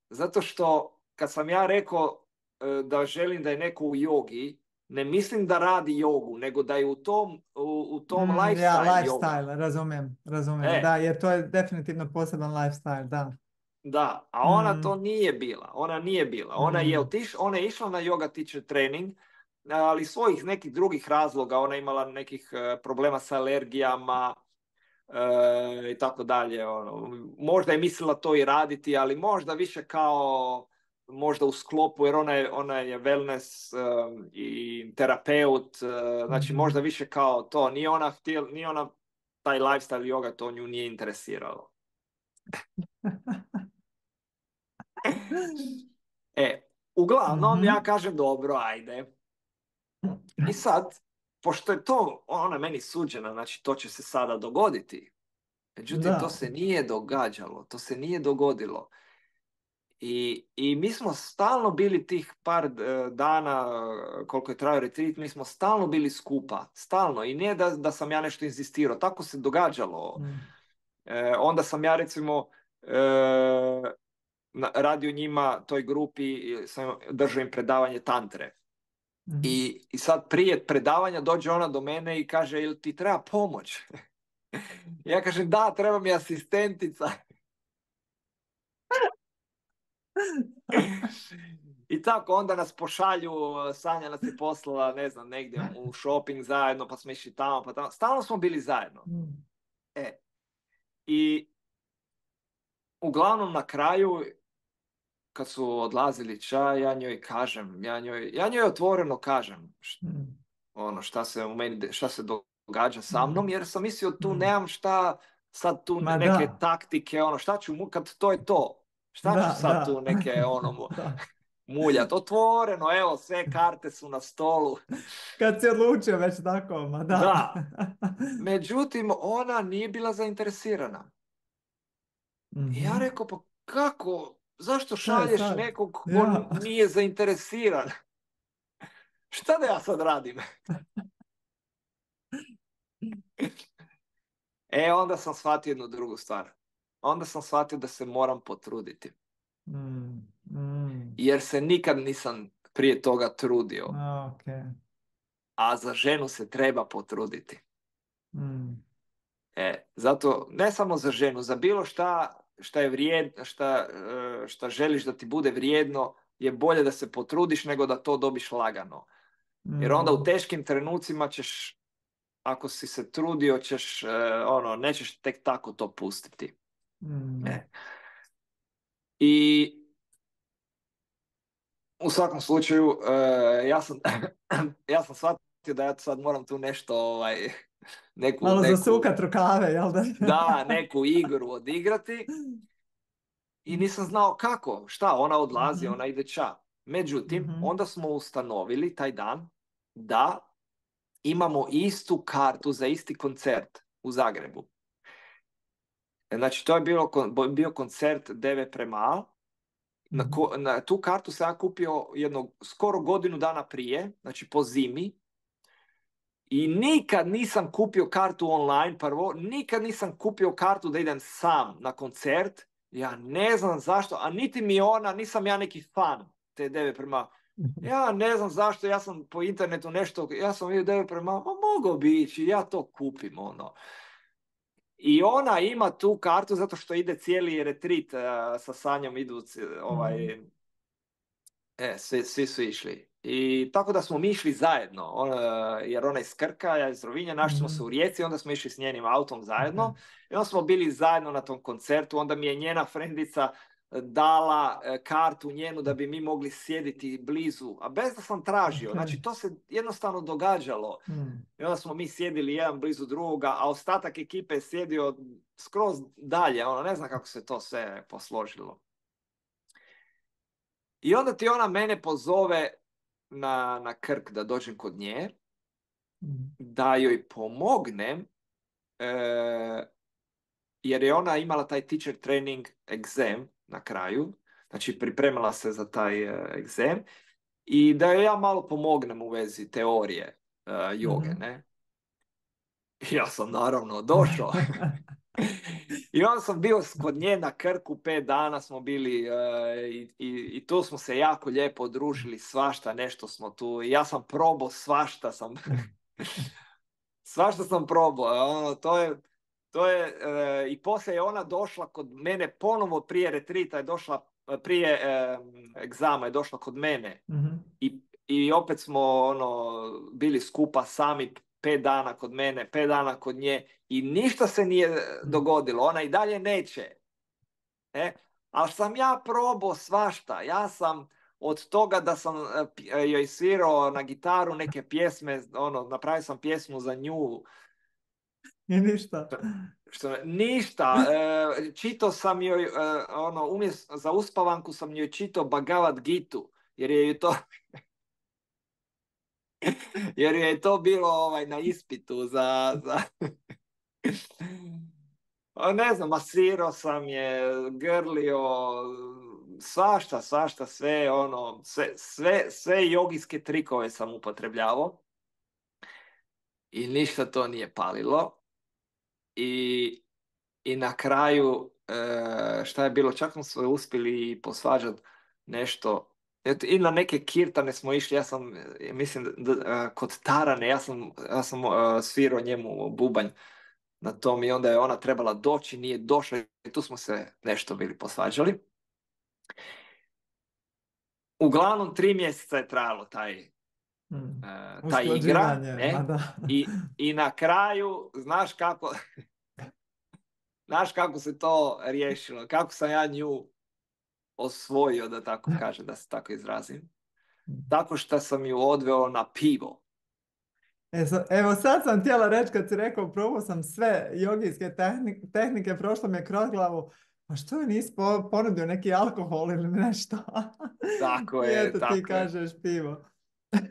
S1: Zato što kad sam ja rekao da želim da je neko u jogi, ne mislim da radi jogu, nego da je u tom
S2: Ja,
S1: lifestyle joga.
S2: lifestyle, razumijem. Da,
S1: E,
S2: jer to je definitivno poseban lifestyle, da.
S1: da, a ona to nije bila. Ona nije bila.
S2: Mm,
S1: Ona je išla na yoga teacher trening, ali svojih nekih drugih razloga. Ona je imala nekih problema sa alergijama i tako dalje. Možda je mislila to i raditi, ali možda više kao možda u sklopu, jer ona je wellness i terapeut, znači
S2: mhm.
S1: možda više kao to. Nije ona taj lifestyle yoga, to nju nije interesiralo. Uglavnom, ja
S2: Mhm.
S1: kažem dobro, ajde. I sad, pošto je to, ona meni suđena, znači to će se sada dogoditi. Međutim, to
S2: Da.
S1: se nije događalo, to se nije dogodilo. I mi smo stalno bili tih par dana, koliko je trajao retreat, mi smo stalno bili skupa, stalno. I nije da sam ja nešto inzistirao, tako se događalo.
S2: Mm,
S1: Onda sam ja recimo radio njima, toj grupi, sam držao im predavanje tantre.
S2: mhm.
S1: I sad prije predavanja dođe ona do mene i kaže, jel ti treba pomoć? Ja kažem, da, treba mi asistentica. I tako, onda nas pošalju, Sanja nas je poslala, ne znam, negdje u shopping zajedno, pa smo išli tamo, pa tamo. Stalno smo bili zajedno.
S2: Mm,
S1: I uglavnom na kraju, kad su odlazili čaj, ja njoj kažem, ja njoj otvoreno kažem
S2: mm,
S1: šta se u meni, šta se događa sa mnom,
S2: mm,
S1: jer sam mislio tu
S2: mm.
S1: nemam šta, sad tu
S2: Ma
S1: neke
S2: da,
S1: taktike, šta ću mu, kad to je to. Šta ću
S2: da,
S1: sad tu
S2: da.
S1: neke
S2: Da.
S1: muljat? Otvoreno, evo, sve karte su na stolu.
S2: Kad si odlučio već tako, ma da.
S1: Da. Međutim, ona nije bila zainteresirana. I ja
S2: Mhm.
S1: rekao, pa kako? Zašto
S2: Šta je
S1: šalješ
S2: sad?
S1: nekog ko
S2: Ja.
S1: nije zainteresiran? Šta da ja sad radim? Onda sam shvatio jednu drugu stvar. Onda sam shvatio da se moram potruditi.
S2: Mm, mm.
S1: Jer se nikad nisam prije toga trudio.
S2: Ok.
S1: A za ženu se treba potruditi.
S2: Mm,
S1: Zato ne samo za ženu, za bilo šta je vrijedno, šta želiš da ti bude vrijedno, je bolje da se potrudiš nego da to dobiš lagano. Jer onda u
S2: mm,
S1: teškim trenucima ćeš, ako si se trudio, nećeš tek tako to pustiti.
S2: mm.
S1: I u svakom slučaju, ja sam shvatio da ja sad moram tu nešto,
S2: Malo
S1: neku,
S2: zasukat rukave, jel da?
S1: da, neku igru odigrati. I nisam znao kako, šta, ona odlazi,
S2: Mhm,
S1: ona ide ča. Međutim,
S2: mhm,
S1: onda smo ustanovili taj dan da imamo istu kartu za isti koncert u Zagrebu. Znači, to je bio koncert Deve Premal.
S2: mhm.
S1: Na tu kartu sam ja kupio skoro godinu dana prije, znači po zimi. I nikad nisam kupio kartu online prvo, nikad nisam kupio kartu da idem sam na koncert. Ja ne znam zašto, a niti mi ona, nisam ja neki fan te Deve Premal. Ja ne znam zašto, ja sam po internetu ja sam vidio Deve Premal, mogao bi ići, ja to kupim, I ona ima tu kartu zato što ide cijeli retreat sa Sanjom, idu
S2: Mhm.
S1: svi su išli. I tako da smo mi išli zajedno, jer ona je iz Krka, ja iz Rovinja, našli smo se u
S2: Mhm.
S1: Rijeci, onda smo išli s njenim autom
S2: Ok.
S1: zajedno i onda smo bili zajedno na tom koncertu, onda mi je njena frendica dala kartu njenu da bi mi mogli sjediti blizu, a bez da sam tražio,
S2: Ok.
S1: znači to se jednostavno događalo.
S2: Mm.
S1: I onda smo mi sjedili jedan blizu drugoga, a ostatak ekipe je sjedio skroz dalje, ne znam kako se to sve posložilo. I onda ti ona mene pozove na Krk da dođem kod nje,
S2: Mm.
S1: da joj pomognem, jer je ona imala taj teacher training exam na kraju, znači pripremala se za taj exam i da joj ja malo pomognem u vezi teorije joge,
S2: Mhm.
S1: ne? Ja sam naravno došao. I onda sam bio kod nje na Krku, 5 dana smo bili i tu smo se jako lijepo družili, svašta nešto smo tu. I ja sam probao, svašta sam probao. Ono, i poslije je ona došla kod mene ponovo prije retrita, je došla prije egzama, je došla kod mene.
S2: Mhm.
S1: I opet smo bili skupa sami 5 dana kod mene, 5 dana kod nje i ništa se nije dogodilo. Ona i dalje neće. Ali sam ja probao svašta. Ja sam od toga da sam joj svirao na gitaru neke pjesme, napravio sam pjesmu za nju.
S2: I ništa.
S1: Ništa. Čitao sam joj, umjesto za uspavanku sam joj čitao Bhagavad Gitu, jer je to jer je to bilo na ispitu za... Ne znam, masirao sam je, grlio, svašta, sve jogijske trikove sam upotrebljavao i ništa to nije palilo. I na kraju, šta je bilo, čak smo se uspjeli posvađati nešto. I na neke kirtane smo išli, ja sam, mislim, kod Tarane, ja sam svirao njemu bubanj na tom i onda je ona trebala doći, nije došla i tu smo se nešto bili posvađali. Uglavnom 3 mjeseca je trajalo ta igra,
S2: Usklađivanje,
S1: ne?
S2: mada.
S1: I na kraju, znaš kako se to riješilo, kako sam ja nju osvojio, da tako kažem, da se tako izrazim. Tako što sam ju odveo na pivo.
S2: Evo sad sam htjela reći kad si rekao probao sam sve jogijske tehnike, prošlo mi je kroz glavu. Pa što je nisi ponudio neki alkohol ili nešto?
S1: Tako
S2: I
S1: je,
S2: eto ti
S1: tako je.
S2: kažeš pivo.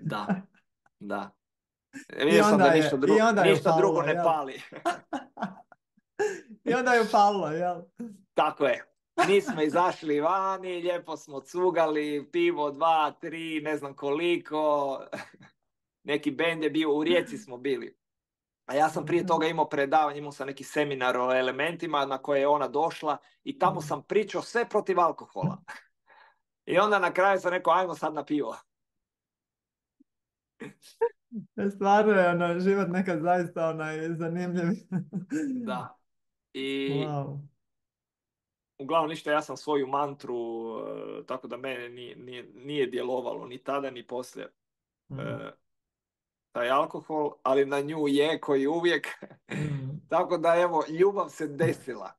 S1: Da, da.
S2: I
S1: Vidio sam
S2: onda
S1: da
S2: je, i onda je
S1: ništa drugo
S2: upalilo,
S1: ne
S2: jel?
S1: pali.
S2: I onda je upalilo, jel?
S1: Tako je. Nismo izašli vani, lijepo smo cugali, pivo 2, 3, ne znam koliko. Neki bend je bio, u Rijeci smo bili. A ja sam prije toga imao predavanje, imao sam neki seminar o elementima na koje je ona došla i tamo sam pričao sve protiv alkohola. I onda na kraju sam rekao, ajmo sad na pivo.
S2: Stvarno je život nekad zaista zanimljiv.
S1: Da. I
S2: Wow.
S1: uglavnom ništa, ja sam svoju mantru, tako da mene nije djelovalo ni tada ni poslije taj alkohol, ali na nju je koji uvijek. Tako da evo, ljubav se desila.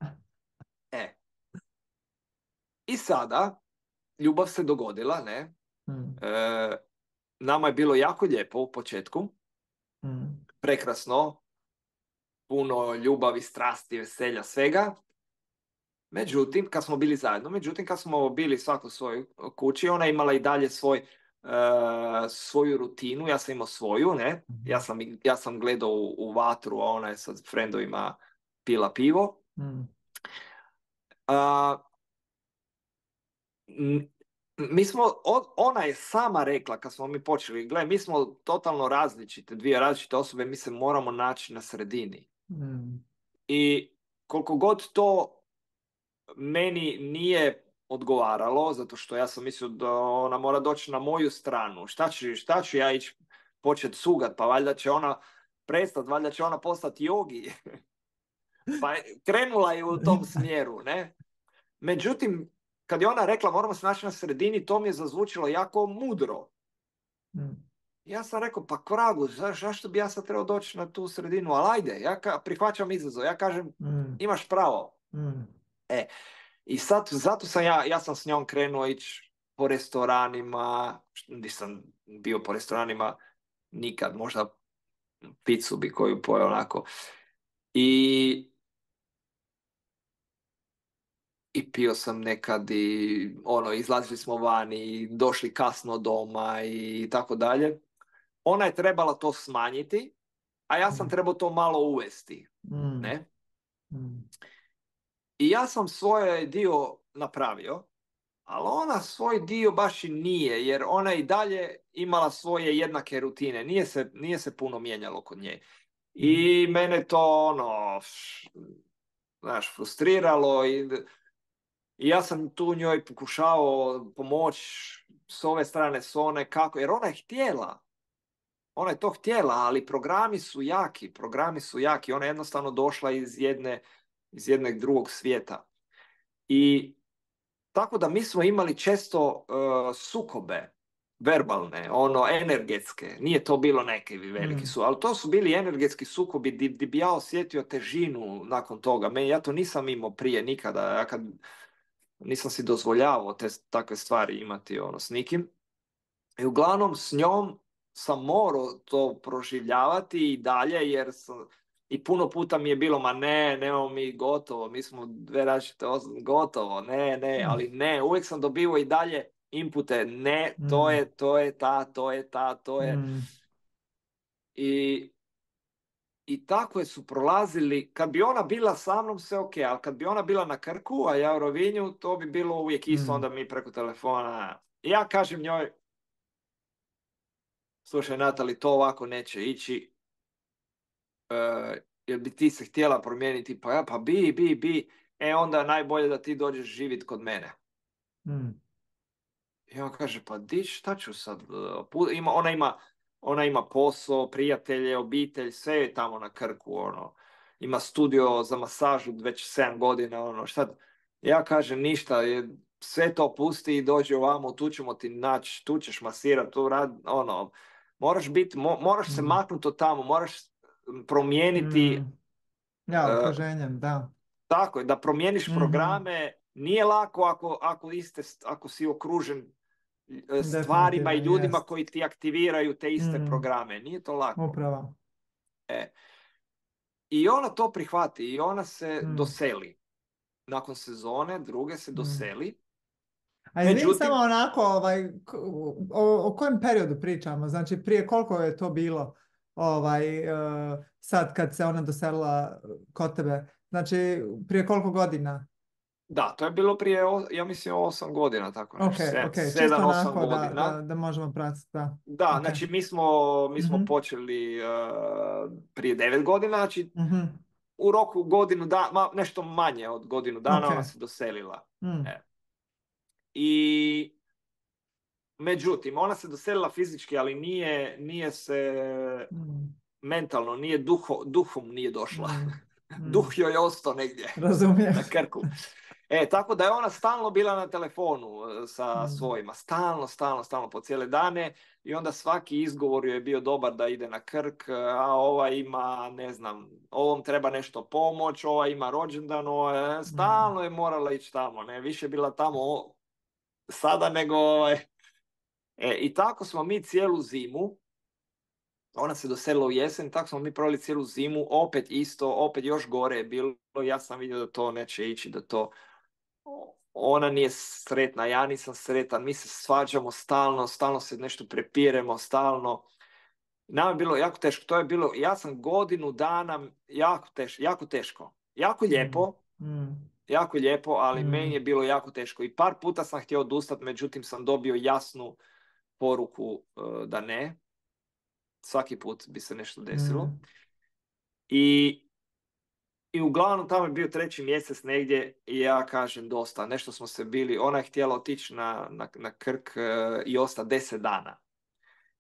S1: I sada, ljubav se dogodila, ne? Nama je bilo jako lijepo u početku. Prekrasno. Puno ljubavi, strasti, veselja, svega. Međutim, kad smo bili zajedno, kad smo bili svako u svojoj kući, ona je imala i dalje svoju rutinu, ja sam imao svoju, ne? Ja sam gledao u vatru, a ona je sa frendovima pila pivo. Ona je sama rekla kad smo mi počeli, gle, mi smo totalno različite, dvije različite osobe, mi se moramo naći na sredini. I koliko god to meni nije odgovaralo, zato što ja sam mislio da ona mora doći na moju stranu. Šta ću ja ići početi sugat, pa valjda će ona prestati, valjda će ona postati jogi. Pa krenula je u tom smjeru, ne? Međutim, kad je ona rekla moramo se naći na sredini, to mi je zazvučilo jako mudro. Ja sam rekao, pa kvragu, zašto bi ja sad trebao doći na tu sredinu? Ali ajde, ja prihvaćam izazov, ja kažem, imaš pravo. I sad, zato sam ja sam s njom krenuo ići po restoranima, nisam bio po restoranima nikad, možda picu bi koju pojeo onako. I pio sam nekad i izlazili smo van i došli kasno doma i tako dalje. Ona je trebala to smanjiti, a ja sam trebao to malo uvesti. Ne? I ja sam svoj dio napravio, ali ona svoj dio baš i nije, jer ona i dalje imala svoje jednake rutine. Nije se puno mijenjalo kod nje. I mene to, znaš, frustriralo i ja sam tu njoj pokušavao pomoći s ove strane, s one, kako, jer ona je htjela. Ona je to htjela, ali programi su jaki. Ona je jednostavno došla iz jednog drugog svijeta. I tako da mi smo imali često sukobe, verbalne, energetske. Nije to bilo neki veliki ali to su bili energetski sukobi di bi ja osjetio težinu nakon toga. Ja to nisam imao prije nikada. Ja kad nisam si dozvoljavao takve stvari imati s nikim. I uglavnom s njom sam morao to proživljavati i dalje, jer i puno puta mi je bilo, ma ne, nemamo mi gotovo, mi smo dve različite gotovo, ne, ali ne, uvijek sam dobivao i dalje inpute, ne, to je to je. I tako je su prolazili, kad bi ona bila sa mnom sve ok, ali kad bi ona bila na Krku, a ja u Rovinju, to bi bilo uvijek isto, onda mi preko telefona. I ja kažem njoj, slušaj Natali, to ovako neće ići, jer bi ti se htjela promijeniti, pa bi, onda je najbolje da ti dođeš živjeti kod mene. I on kaže, pa šta ću sad, ona ima posao, prijatelje, obitelj, sve je tamo na Krku, ima studio za masažu već 7 godina, šta, ja kažem ništa, sve to pusti i dođi ovamo, tu ćemo ti naći, tu ćeš masirati, tu moraš se maknuti od tamo, moraš promijeniti
S2: okruženjem, da.
S1: tako je, da promijeniš programe, nije lako ako si okružen stvarima i ljudima koji ti aktiviraju te iste programe. Nije to lako.
S2: Upravo.
S1: I ona to prihvati i ona se doseli. Nakon sezone, druge se doseli.
S2: A izvini samo onako, o kojem periodu pričamo? Znači, prije koliko je to bilo sad kad se ona doselila kod tebe? Znači, prije koliko godina?
S1: Da, to je bilo prije, ja mislim, 8 godina, tako nešto.
S2: Ok,
S1: 7-8
S2: godina. Da možemo pratiti, da.
S1: Da, okay. Znači mi smo počeli prije 9 godina, znači u roku godinu dana, nešto manje od godinu dana ona se doselila. I međutim, ona se doselila fizički, ali nije se mentalno, nije duhom nije došla. Duh joj je ostao negdje.
S2: Razumijem.
S1: Na Krku. Tako da je ona stalno bila na telefonu sa svojima. Stalno po cijele dane. I onda svaki izgovor joj je bio dobar da ide na Krk. A ova ima, ne znam, ovom treba nešto pomoć, ova ima rođendan. Stalno je morala ići tamo. Ne? Više je bila tamo sada nego... I tako smo mi cijelu zimu, ona se doselila u jesen, tako smo mi proveli cijelu zimu, opet isto, opet još gore je bilo. Ja sam vidio da to neće ići, da to... Ona nije sretna, ja nisam sretan, mi se svađamo stalno se nešto prepiremo, stalno. Nama je bilo jako teško, to je bilo, ja sam godinu dana jako teško. Jako lijepo, ali meni je bilo jako teško. I par puta sam htio odustati, međutim sam dobio jasnu poruku da ne. Svaki put bi se nešto desilo. I uglavnom tamo je bio 3. mjesec negdje i ja kažem dosta. Nešto smo se bili, ona je htjela otići na Krk i ostati 10 dana.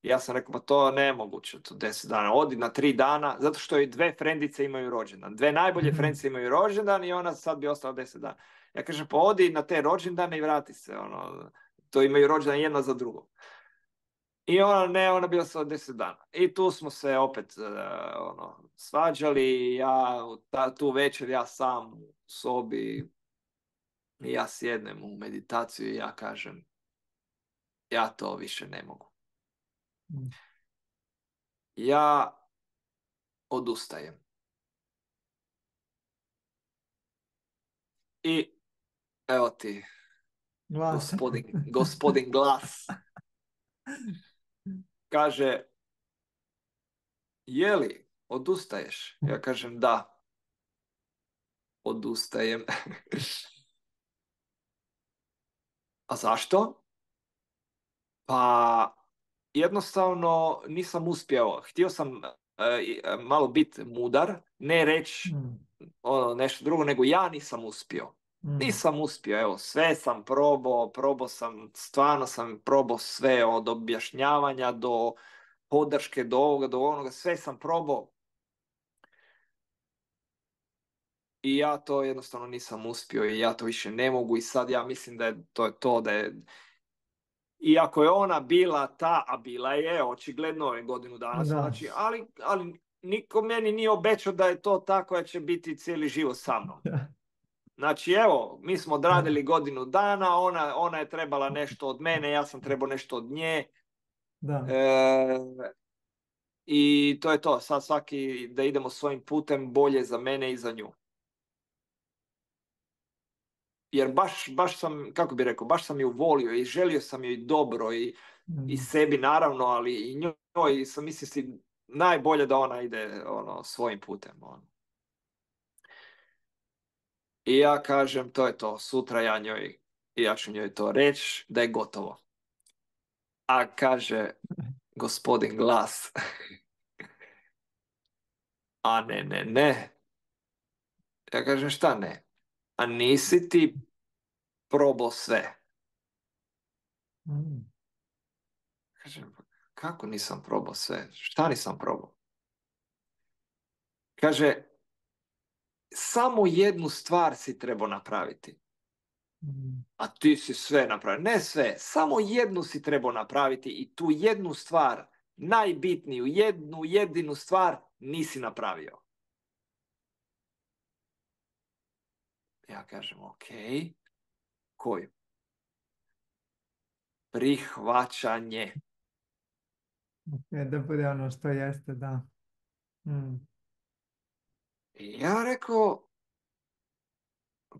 S1: I ja sam rekao, pa to je nemoguće, to 10 dana. Odi na 3 dana, zato što i 2 frendice imaju rođendan. 2 najbolje frendice imaju rođendan i ona sad bi ostala 10 dana. Ja kažem, pa odi na te rođendane i vrati se. To imaju rođendan jedna za drugo. I ona bila se od 10 dana. I tu smo se opet svađali. Ja tu večer ja sam u sobi i ja sjednem u meditaciju i ja kažem, ja to više ne mogu. Ja odustajem. I evo ti gospodin glas. Kaže, je li odustaješ? Ja kažem, da. Odustajem. A zašto? Pa jednostavno nisam uspio. Htio sam malo biti mudar, ne reći
S2: Mm,
S1: ono nešto drugo, nego ja nisam uspio.
S2: mm,
S1: Nisam uspio, evo, sve sam probao sam, stvarno sam probao sve, od objašnjavanja do podrške, do ovoga, do onoga, sve sam probao. I ja to jednostavno nisam uspio i ja to više ne mogu i sad ja mislim da je to, da je... Iako je ona bila ta, a bila je, očigledno je godinu dana,
S2: da.
S1: znači, ali niko meni nije obećao da je to tako da će biti cijeli život sa mnom. Znači, evo, mi smo odradili godinu dana, ona je trebala nešto od mene, ja sam trebao nešto od nje.
S2: Da.
S1: E, I to je to. Sad svaki da idemo svojim putem, bolje za mene i za nju. Jer baš sam, kako bi rekao, baš sam ju volio i želio sam joj dobro i
S2: Mm,
S1: sebi naravno, ali i njoj sam mislim si najbolje da ona ide svojim putem. I ja kažem, to je to, sutra ja ću njoj to reći da je gotovo. A kaže gospodin Glas, a ne. Ja kažem, šta ne? A nisi ti probao sve?
S2: mm,
S1: Kažem, kako nisam probao sve? Šta nisam probao? Kaže, samo jednu stvar si trebao napraviti.
S2: mm,
S1: A ti si sve napravio. Ne sve, samo jednu si trebao napraviti i tu jednu stvar, najbitniju, jednu jedinu stvar nisi napravio. Ja kažem, ok, koju? Prihvaćanje.
S2: Da bude ono što jeste, da. Mm,
S1: I ja rekao,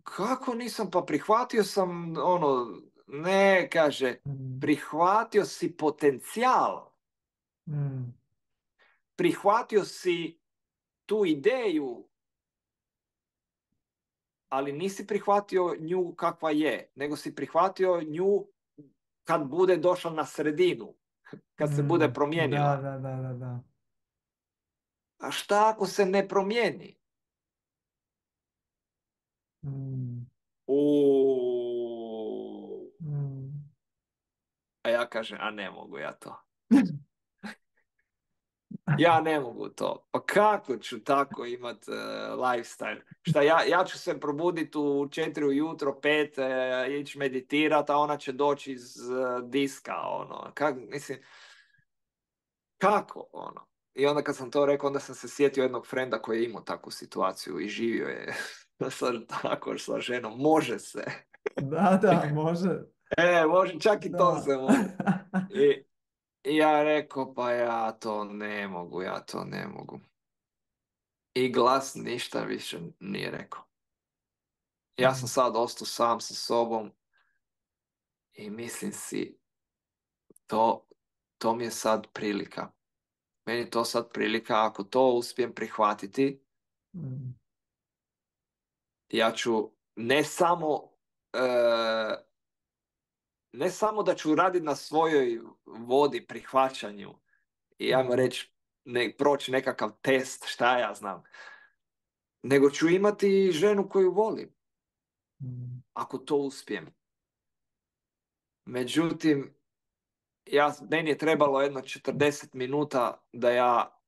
S1: kako nisam, pa prihvatio sam ne, kaže,
S2: mm,
S1: prihvatio si potencijal,
S2: mm,
S1: prihvatio si tu ideju, ali nisi prihvatio nju kakva je, nego si prihvatio nju kad bude došla na sredinu, kad se bude
S2: da,
S1: promijenila.
S2: da, da, da, da.
S1: A šta ako se ne promijeni?
S2: Mm,
S1: Uuu.
S2: mm.
S1: A ja kažem, a ne mogu ja to. Ja ne mogu to. Pa kako ću tako imat lifestyle? Šta ja ću se probuditi u 4 ujutro, 5, ići meditirat, a ona će doći iz diska, mislim, kako, I onda kad sam to rekao, onda sam se sjetio jednog frenda koji je imao takvu situaciju i živio je tako sa ženom. Može se.
S2: Da, da, može.
S1: Može, čak i to
S2: Da.
S1: se može. I ja rekao, pa ja to ne mogu. I Glas ništa više nije rekao. Ja sam
S2: Mm,
S1: sad ostao sam sa sobom i mislim si, to mi je sad prilika. Meni je to sad prilika, ako to uspijem prihvatiti,
S2: mm,
S1: ja ću ne samo da ću raditi na svojoj vodi prihvaćanju i ajmo
S2: mm,
S1: reći proći nekakav test, šta ja znam, nego ću imati ženu koju volim,
S2: mm,
S1: ako to uspijem. Međutim, meni je trebalo jedno 40 minuta da ja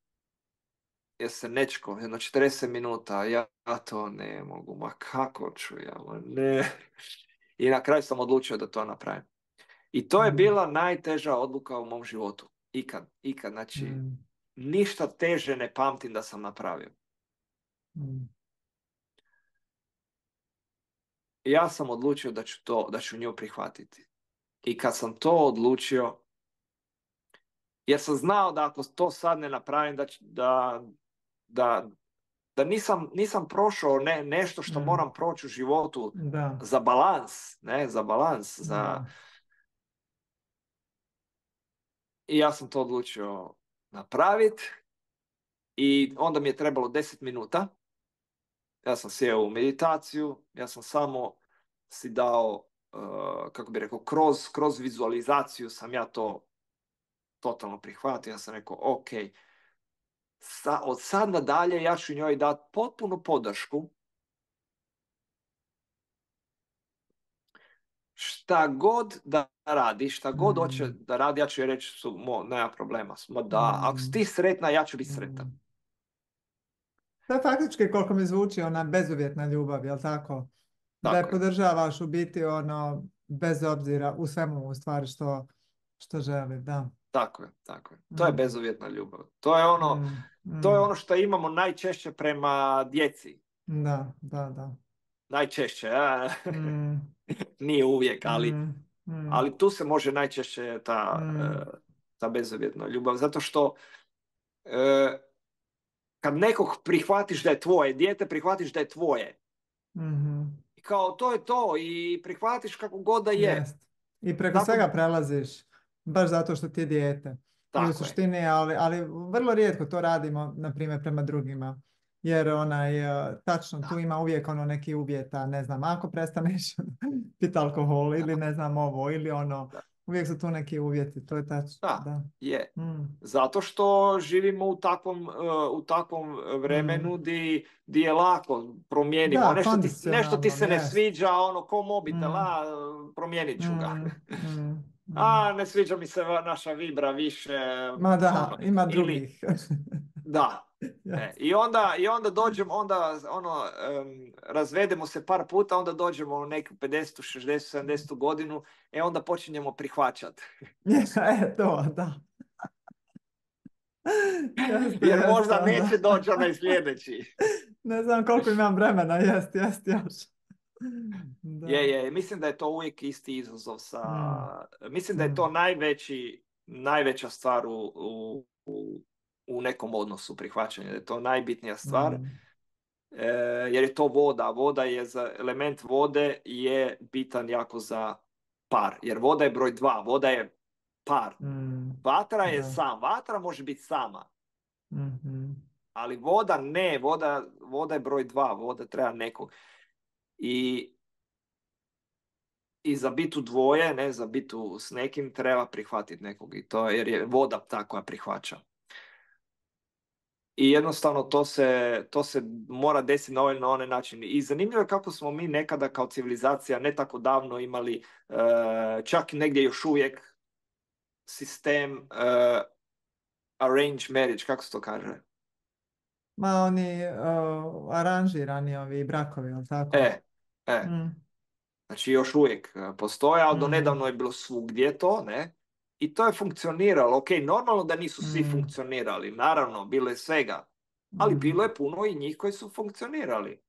S1: se nečko, jedno 40 minuta, ja to ne mogu, ma kako ću ja, ma ne. I na kraju sam odlučio da to napravim. I to je
S2: mm,
S1: bila najteža odluka u mom životu. Ikad, znači,
S2: mm,
S1: ništa teže ne pamtim da sam napravio.
S2: mm,
S1: I ja sam odlučio da ću nju prihvatiti. I kad sam to odlučio, jer sam znao da ako to sad ne napravim, da nisam prošao nešto što
S2: mm.
S1: moram proći u životu
S2: Da,
S1: za balans, ne, za balans,
S2: da.
S1: I ja sam to odlučio napraviti i onda mi je trebalo 10 minuta. Ja sam sjeo u meditaciju, ja sam samo si dao kako bi rekao, kroz vizualizaciju sam ja to totalno prihvatio. Ja sam rekao, ok, od sad nadalje ja ću njoj dati potpunu podršku. Šta god da radi, šta god hoće da radi, ja ću joj reći, nema problema. Da, ako si ti sretna, ja ću biti sretan.
S2: To je faktički, koliko mi zvuči, ona bezuvjetna ljubav, jel tako? Da je
S1: Tako je.
S2: podržavaš u biti ono, bez obzira u svemu u stvari što želi, da.
S1: Tako je. To je bezuvjetna ljubav. To je ono što imamo najčešće prema djeci.
S2: Da.
S1: Najčešće, nije uvijek, ali tu se može najčešće ta bezuvjetna ljubav. Zato što kad nekog prihvatiš da je tvoje, dijete prihvatiš da je tvoje. I kao to je to i prihvatiš kako god da je.
S2: Jest. I preko svega prelaziš, baš zato što ti je dijete. I u suštini, ali vrlo rijetko to radimo, na primjer, prema drugima. Jer tačno, tu ima uvijek neki uvjeta, ne znam, ako prestaneš piti alkohol ili ne znam ovo ili ono, uvijek su tu neki uvjeti, to je tačno.
S1: Da. Je. Zato što živimo u takvom vremenu di je lako promijenimo. Nešto ti se ne sviđa, ko mobitela, promijenit ću ga. Ne sviđa mi se naša vibra više.
S2: Ma da, ima drugih.
S1: Da. I onda dođemo, razvedemo se par puta, onda dođemo u neku 50, 60, 70 godinu, onda počinjemo prihvaćati.
S2: To, da.
S1: Jer možda neće doći onaj sljedeći.
S2: Ne znam koliko imam vremena, jest još.
S1: Je, mislim da je to uvijek isti izazov mislim da je to najveća stvar u nekom odnosu prihvaćanja, da je to najbitnija stvar, jer je to voda. Element vode je bitan jako za par, jer voda je broj 2, voda je par. Vatra je sam, vatra može biti sama. Ali voda ne, voda je broj 2, voda treba nekog. I za biti u dvoje, ne, za biti s nekim, treba prihvatiti nekog. I to, jer je voda ta koja prihvaća. I jednostavno to se mora desiti na onaj način. I zanimljivo je kako smo mi nekada kao civilizacija ne tako davno imali čak i negdje još uvijek sistem arranged marriage, kako se to kaže?
S2: Ma oni aranžirani ovi brakovi, ali tako?
S1: Znači još uvijek postoje, ali do nedavno je bilo svugdje to, ne? I to je funkcioniralo. Ok, normalno da nisu svi funkcionirali, naravno, bilo je svega. Ali bilo je puno i njih koji su funkcionirali.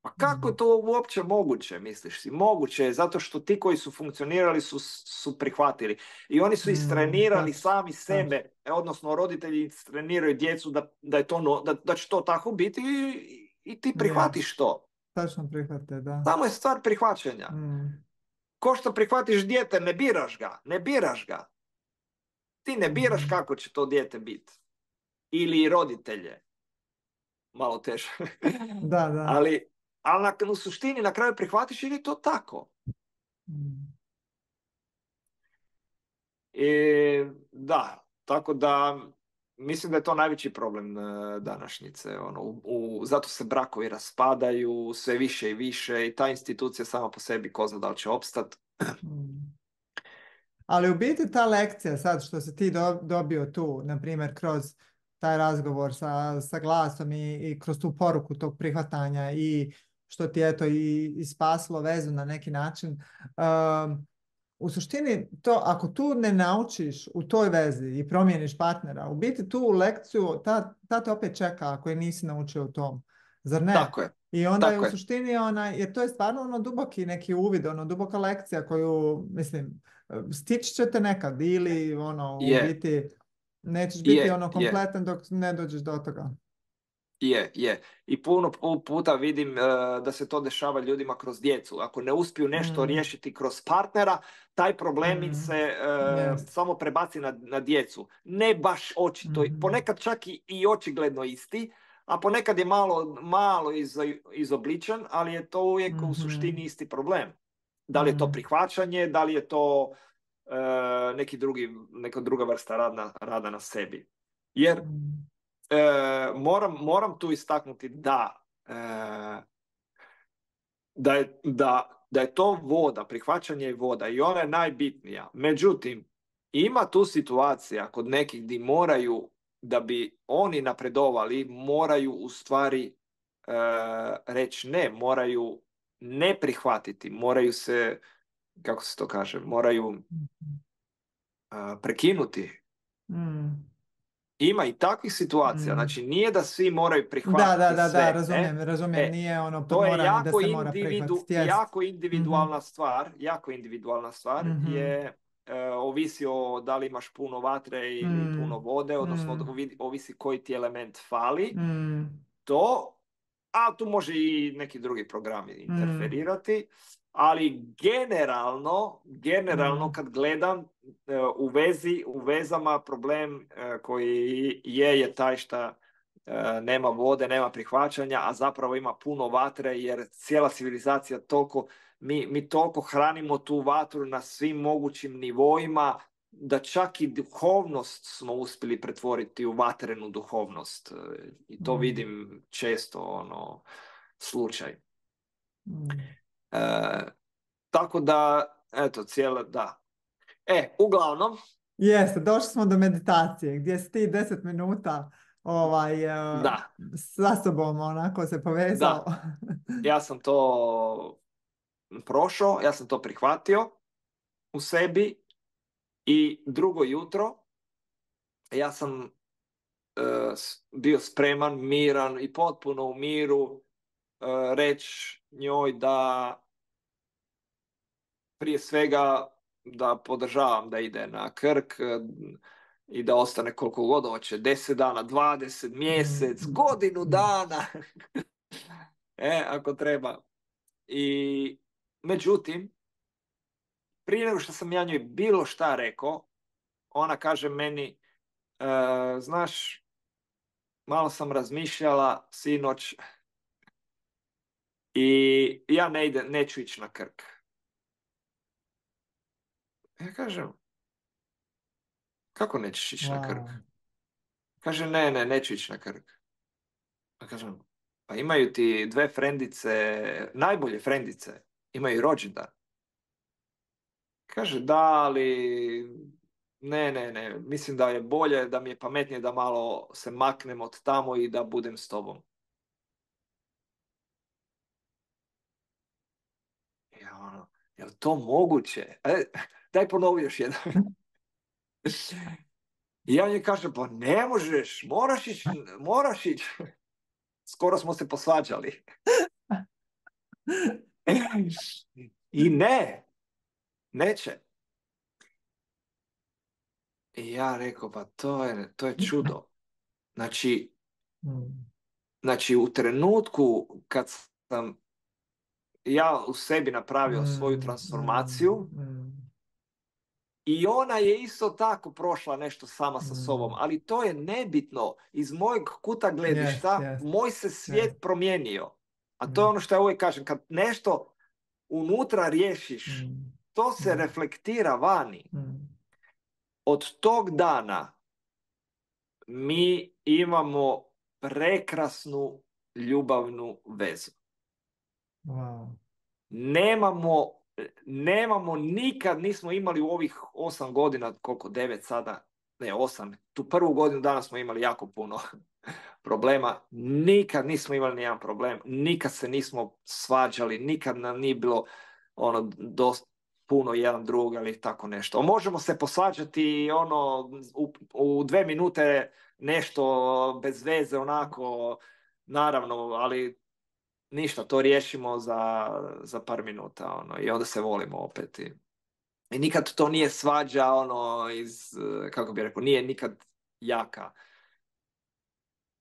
S1: Pa kako je to uopće moguće, misliš si? Moguće je zato što ti koji su funkcionirali su prihvatili. I oni su istrenirali sami sebe, odnosno roditelji istreniraju djecu da će to tako biti i ti prihvatiš to.
S2: Tačno prihvate, da.
S1: Samo je stvar prihvaćanja. Ko što prihvatiš dijete, ne biraš ga. Ti ne biraš kako će to dijete biti. Ili roditelje. Malo teže.
S2: Da.
S1: Ali u suštini na kraju prihvatiš ili je to tako. Da, tako da mislim da je to najveći problem današnjice. Zato se brakovi raspadaju sve više i više i ta institucija sama po sebi ko zna da li će opstati.
S2: Ali u biti ta lekcija sad što si ti dobio tu, na primjer kroz taj razgovor sa glasom i kroz tu poruku tog prihvatanja i što ti je to i spasilo vezu na neki način, u suštini to ako tu ne naučiš u toj vezi i promijeniš partnera, u biti tu lekciju ta te opet čeka ako je nisi naučio u tom. Zar ne?
S1: Tako je.
S2: I onda je u suštini jer to je stvarno duboki neki uvid, duboka lekcija koju, mislim, stići ćete nekad ili u biti nećeš biti kompletan dok ne dođeš do toga.
S1: Je. I puno puta vidim da se to dešava ljudima kroz djecu. Ako ne uspiju nešto riješiti kroz partnera, taj problem se samo prebaci na djecu. Ne baš očito, ponekad čak i očigledno isti, a ponekad je malo izobličan, ali je to uvijek u suštini isti problem. Da li je to prihvaćanje, da li je to neka druga vrsta rada na sebi. Jer moram tu istaknuti da je to voda, prihvaćanje je voda i ona je najbitnija. Međutim, ima tu situacija kod nekih gdje moraju, da bi oni napredovali, moraju u stvari reći ne, moraju ne prihvatiti, moraju se, kako se to kaže, moraju prekinuti. Ima i takvih situacija, znači nije da svi moraju prihvatiti sve.
S2: Da, razumijem, nije ono
S1: to je
S2: moranje da se mora prihvatiti.
S1: Jako individualna stvar je ovisi o da li imaš puno vatre ili puno vode, odnosno ovisi koji ti element fali. A tu može i neki drugi programi interferirati, ali generalno kad gledam u vezama problem koji je taj što nema vode, nema prihvaćanja, a zapravo ima puno vatre jer cijela civilizacija toliko, mi toliko hranimo tu vatru na svim mogućim nivoima da čak i duhovnost smo uspjeli pretvoriti u vatrenu duhovnost. I to vidim često slučaj. Tako da, eto, da. Uglavnom.
S2: Jeste, došli smo do meditacije, gdje si ti 10 minuta sa sobom onako se povezao.
S1: Da. Ja sam to prošao, ja sam to prihvatio u sebi i drugo jutro ja sam bio spreman, miran i potpuno u miru reći njoj da prije svega da podržavam da ide na Krk i da ostane koliko god hoće, 10 dana, 20, mjesec, godinu dana, ako treba. I međutim, prije nego što sam ja njoj bilo šta rekao, ona kaže meni, znaš, malo sam razmišljala sinoć i ja neću ići na Krk. Ja kažem, kako nećeš ići na Krk? Kaže, neću ići na Krk. Ja kažem, pa imaju ti dve frendice, najbolje frendice, imaju rođendan. Kaže, da, ali ne, mislim da je bolje, da mi je pametnije da malo se maknem od tamo i da budem s tobom. Ja, je li to moguće? Daj ponovi još jedan. I ja njoj kažem, pa ne možeš, moraš ići. Skoro smo se posvađali. I neće. I ja rekao, pa to je čudo. Znači, u trenutku kad sam ja u sebi napravio svoju transformaciju, i ona je isto tako prošla nešto sama sa sobom, ali to je nebitno. Iz mojeg kuta gledišta, moj se svijet promijenio. A to je ono što ja uvijek kažem, kad nešto unutra riješiš, to se reflektira vani. Od tog dana mi imamo prekrasnu ljubavnu vezu.
S2: Wow.
S1: Nemamo nikad, nismo imali u ovih 8 godina, koliko, 9 sada, ne 8, tu prvu godinu dana smo imali jako puno problema, nikad nismo imali nijedan problem, nikad se nismo svađali, nikad nam nije bilo puno jedan drug ili tako nešto. Možemo se posvađati u 2 minute nešto bez veze onako, naravno, ali ništa, to riješimo za par minuta i onda se volimo opet. I nikad to nije svađa kako bih rekao, nije nikad jaka.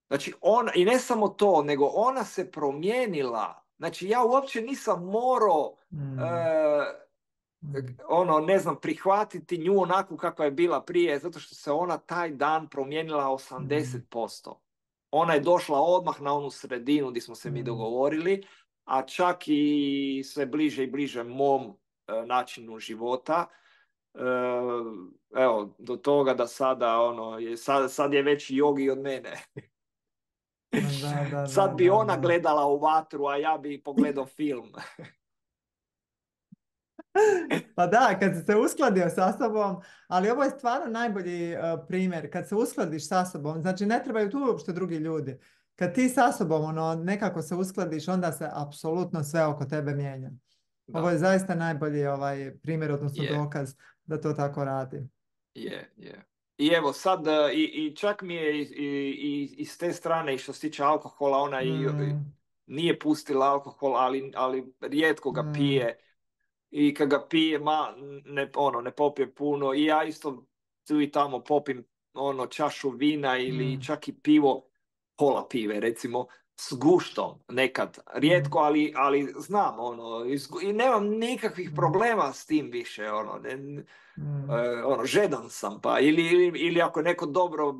S1: Znači, i ne samo to, nego ona se promijenila. Znači, ja uopće nisam morao prihvatiti nju onako kako je bila prije, zato što se ona taj dan promijenila 80%. Ona je došla odmah na onu sredinu gdje smo se mi dogovorili, a čak i sve bliže i bliže mom načinu života. Evo, do toga da sada sad je veći jogi od mene. Sad bi ona
S2: Da.
S1: gledala u vatru, a ja bi pogledao film.
S2: Pa da, kad si se uskladio sa sobom, ali ovo je stvarno najbolji primjer. Kad se uskladiš sa sobom, znači ne trebaju tu uopšte drugi ljudi. Kad ti sa sobom nekako se uskladiš, onda se apsolutno sve oko tebe mijenja. Ovo
S1: Da,
S2: je zaista najbolji primjer, odnosno
S1: je,
S2: dokaz da to tako radi.
S1: je. I evo sad, i čak mi je i s te strane, i što se tiče alkohola, ona nije pustila alkohol, ali rijetko ga
S2: Mm,
S1: pije. I kad ga pije, ne popije puno. I ja isto tu i tamo popim čašu vina ili
S2: mm,
S1: čak i pivo, pola pive recimo, s guštom nekad. Rijetko,
S2: mm,
S1: ali znam, i nemam nikakvih
S2: mm,
S1: problema s tim više,
S2: mm.
S1: žedan sam, pa ili ako je neko dobro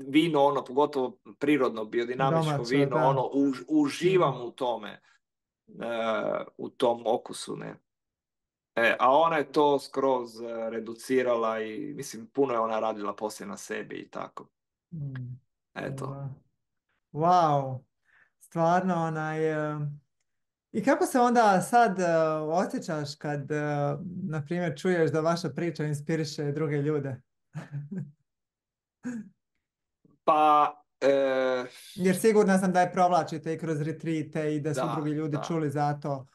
S1: vino, pogotovo prirodno biodinamičko
S2: Domaće,
S1: vino,
S2: da.
S1: uživam
S2: Mm,
S1: u tom okusu, ne. A ona je to skroz reducirala i mislim puno je ona radila poslije na sebi i tako.
S2: mm.
S1: Eto.
S2: Da. Wow, stvarno I kako se onda sad osjećaš kad, na primjer, čuješ da vaša priča inspiriše druge ljude?
S1: Pa,
S2: Jer sigurna sam da je provlačite i kroz retrite i da su drugi
S1: da,
S2: ljudi
S1: da,
S2: čuli za to.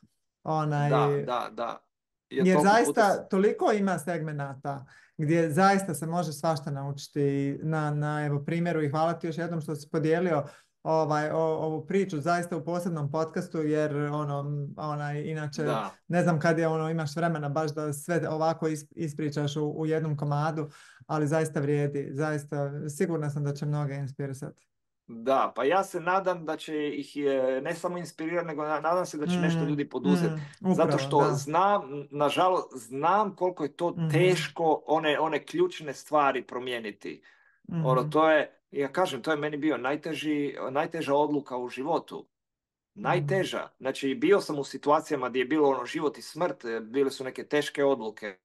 S1: da. Jer
S2: Jer
S1: toliko puta...
S2: zaista toliko ima segmenata gdje zaista se može svašta naučiti na evo, primjeru i hvala ti još jednom što si podijelio ovu priču zaista u posebnom podcastu jer inače
S1: Da,
S2: ne znam kad je imaš vremena baš da sve ovako ispričaš u jednom komadu, ali zaista vrijedi, zaista sigurna sam da će mnoge inspirisati.
S1: da, pa ja se nadam da će ih ne samo inspirirati, nego nadam se da će nešto ljudi poduzeti. Zato
S2: Upravo,
S1: što
S2: da.
S1: znam, nažalost, znam koliko je to
S2: Mhm,
S1: teško one ključne stvari promijeniti.
S2: mhm,
S1: To je, ja kažem, to je meni bio najteža odluka u životu.
S2: mhm,
S1: Najteža. Znači, bio sam u situacijama gdje je bilo život i smrt, bile su neke teške odluke.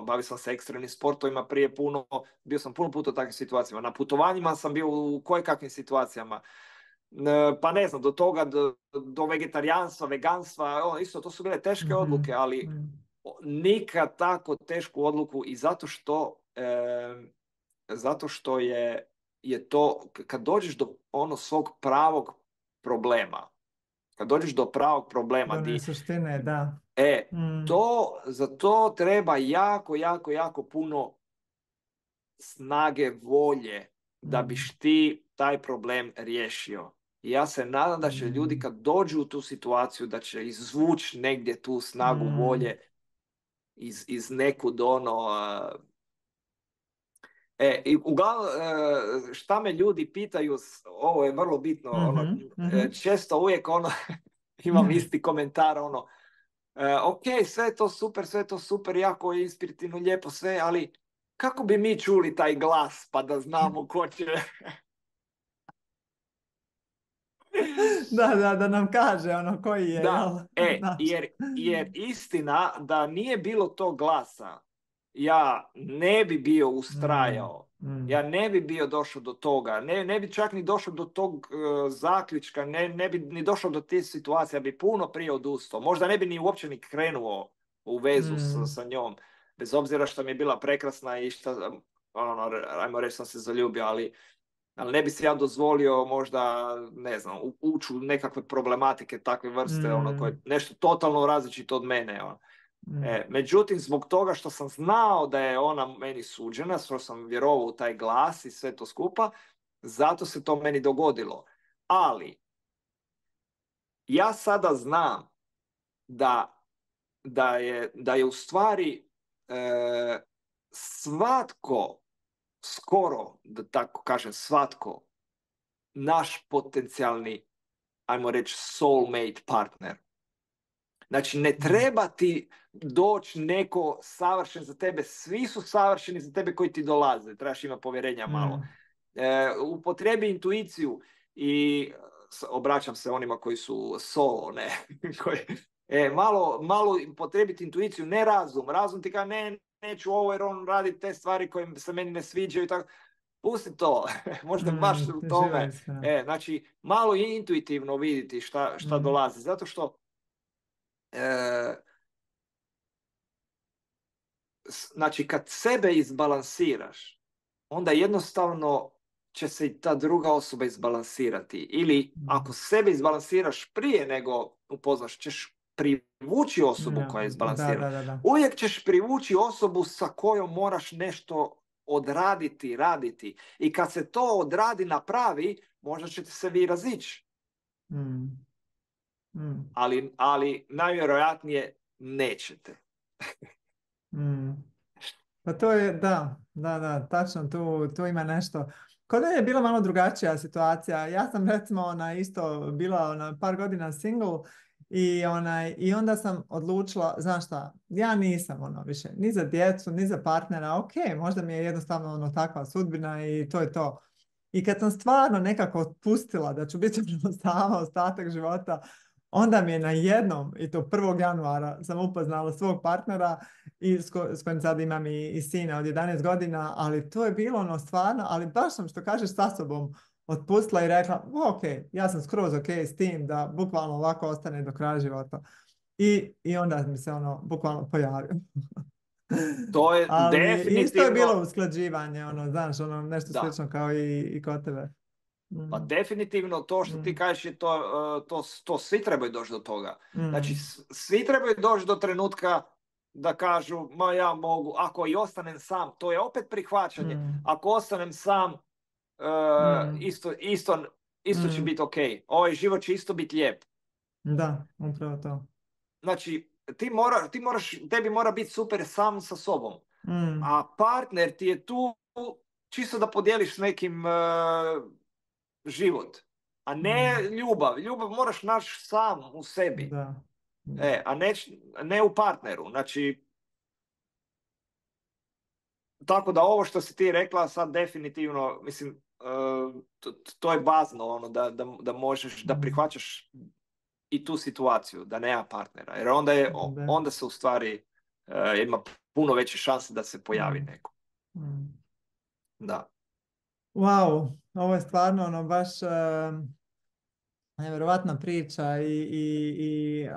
S1: Bavio sam se ekstremnim sportovima prije puno, bio sam puno puta u takvim situacijama. Na putovanjima sam bio u kojekakvim situacijama. Pa ne znam, do toga, do vegetarijanstva, veganstva, isto, to su bile teške odluke,
S2: mhm,
S1: ali
S2: mhm,
S1: nikad tako tešku odluku i zato što je to, kad dođeš do svog pravog problema, kad dođeš do pravog problema,
S2: do suštine, da.
S1: e,
S2: Mm,
S1: za to treba jako, jako, jako puno snage, volje da
S2: mm,
S1: biš ti taj problem riješio. I ja se nadam da će ljudi
S2: mm,
S1: kad dođu u tu situaciju da će izvući negdje tu snagu
S2: mm,
S1: volje iz nekud i uglavnom, šta me ljudi pitaju, ovo je vrlo bitno,
S2: mhm, mhm.
S1: često uvijek imam isti komentar, ok, sve je to super, jako je inspirativno, lijepo sve, ali kako bi mi čuli taj glas pa da znamo ko će...
S2: Da nam kaže koji je,
S1: Da,
S2: jel? Naš.
S1: jer istina da nije bilo tog glasa, ja ne bi bio
S2: Mm,
S1: ustrajao,
S2: mm,
S1: ja ne bi bio došao do toga, ne bi čak ni došao do tog zaključka, ne bi ni došao do te situacije, ja bi puno prije odustao, možda ne bi ni uopće ni krenuo u vezu
S2: mm,
S1: sa njom, bez obzira što mi je bila prekrasna i što, ajmo reći sam se zaljubio, ali ne bi se ja dozvolio možda, ne znam, ući u nekakve problematike takve vrste, koje
S2: mm,
S1: nešto totalno različito od mene.
S2: mm,
S1: Međutim, zbog toga što sam znao da je ona meni suđena, što sam vjerovao u taj glas i sve to skupa, zato se to meni dogodilo. Ali, ja sada znam da je u stvari svatko, skoro, da tako kažem, svatko, naš potencijalni, ajmo reći, soulmate partner. Znači, ne
S2: mm,
S1: treba ti doći neko savršen za tebe. Svi su savršeni za tebe koji ti dolaze. Trebaš imati povjerenja malo.
S2: mm,
S1: Upotrebi intuiciju i obraćam se onima koji su solo, ne? Malo potrebiti intuiciju, ne razum. Razum ti kaže neću ovo jer on radi te stvari koje se meni ne sviđaju i tako. Pusti to, možda baš u tome.
S2: Živa istina.
S1: Znači, malo intuitivno vidjeti šta
S2: Mm,
S1: dolazi. Zato što e, znači kad sebe izbalansiraš, onda jednostavno će se i ta druga osoba izbalansirati. Ili ako
S2: mm.
S1: sebe izbalansiraš prije nego upoznaš, ćeš privući osobu
S2: Ja,
S1: koja je
S2: da,
S1: izbalansirana.
S2: da, da.
S1: Uvijek ćeš privući osobu sa kojom moraš nešto odraditi, raditi. I kad se to odradi, napravi, možda ćete se vi razići.
S2: Mm, mm,
S1: Ali najvjerojatnije nećete.
S2: mm. Pa to je, da, tačno, tu ima nešto. Kod mene je bila malo drugačija situacija. Ja sam recimo isto bila par godina single i onda sam odlučila, znaš šta, ja nisam više ni za djecu, ni za partnera, ok, možda mi je jednostavno takva sudbina i to je to. I kad sam stvarno nekako otpustila da ću biti sama ostatak života, onda mi je najednom, i to 1. januara, sam upoznala svog partnera i s kojim sad imam i sina od 11 godina, ali to je bilo stvarno, ali baš sam, što kažeš, sa sobom otpustila i rekla, ok, ja sam skroz ok s tim da bukvalno ovako ostane do kraja života. I onda mi se bukvalno pojavio.
S1: To je
S2: Ali isto je bilo
S1: definitivno,
S2: usklađivanje, znaš, nešto
S1: da.
S2: slično kao i kod tebe.
S1: Pa
S2: Mm,
S1: definitivno to što ti
S2: mm,
S1: kažeš je to svi trebaju doći do toga. Znači
S2: mm,
S1: svi trebaju doći do trenutka da kažu ma ja mogu, ako i ostanem sam, to je opet prihvaćanje.
S2: mm,
S1: Ako ostanem sam,
S2: mm,
S1: isto će
S2: mm.
S1: biti ok. Ovaj život će isto biti lijep.
S2: Da, upravo to.
S1: Znači tebi mora biti super sam sa sobom.
S2: Mm,
S1: A partner ti je tu čisto da podijeliš s nekim život, a ne
S2: mm,
S1: ljubav. Ljubav moraš naći sam u sebi,
S2: da, da.
S1: a ne u partneru. Znači, tako da ovo što si ti rekla sad definitivno, mislim, to je bazno, da možeš, da
S2: Mm,
S1: prihvaćaš i tu situaciju, da nema partnera. Jer
S2: da.
S1: onda se u stvari ima puno veće šanse da se pojavi
S2: Mm,
S1: neko.
S2: mm.
S1: Da.
S2: Wow, ovo je stvarno baš nevjerovatna priča i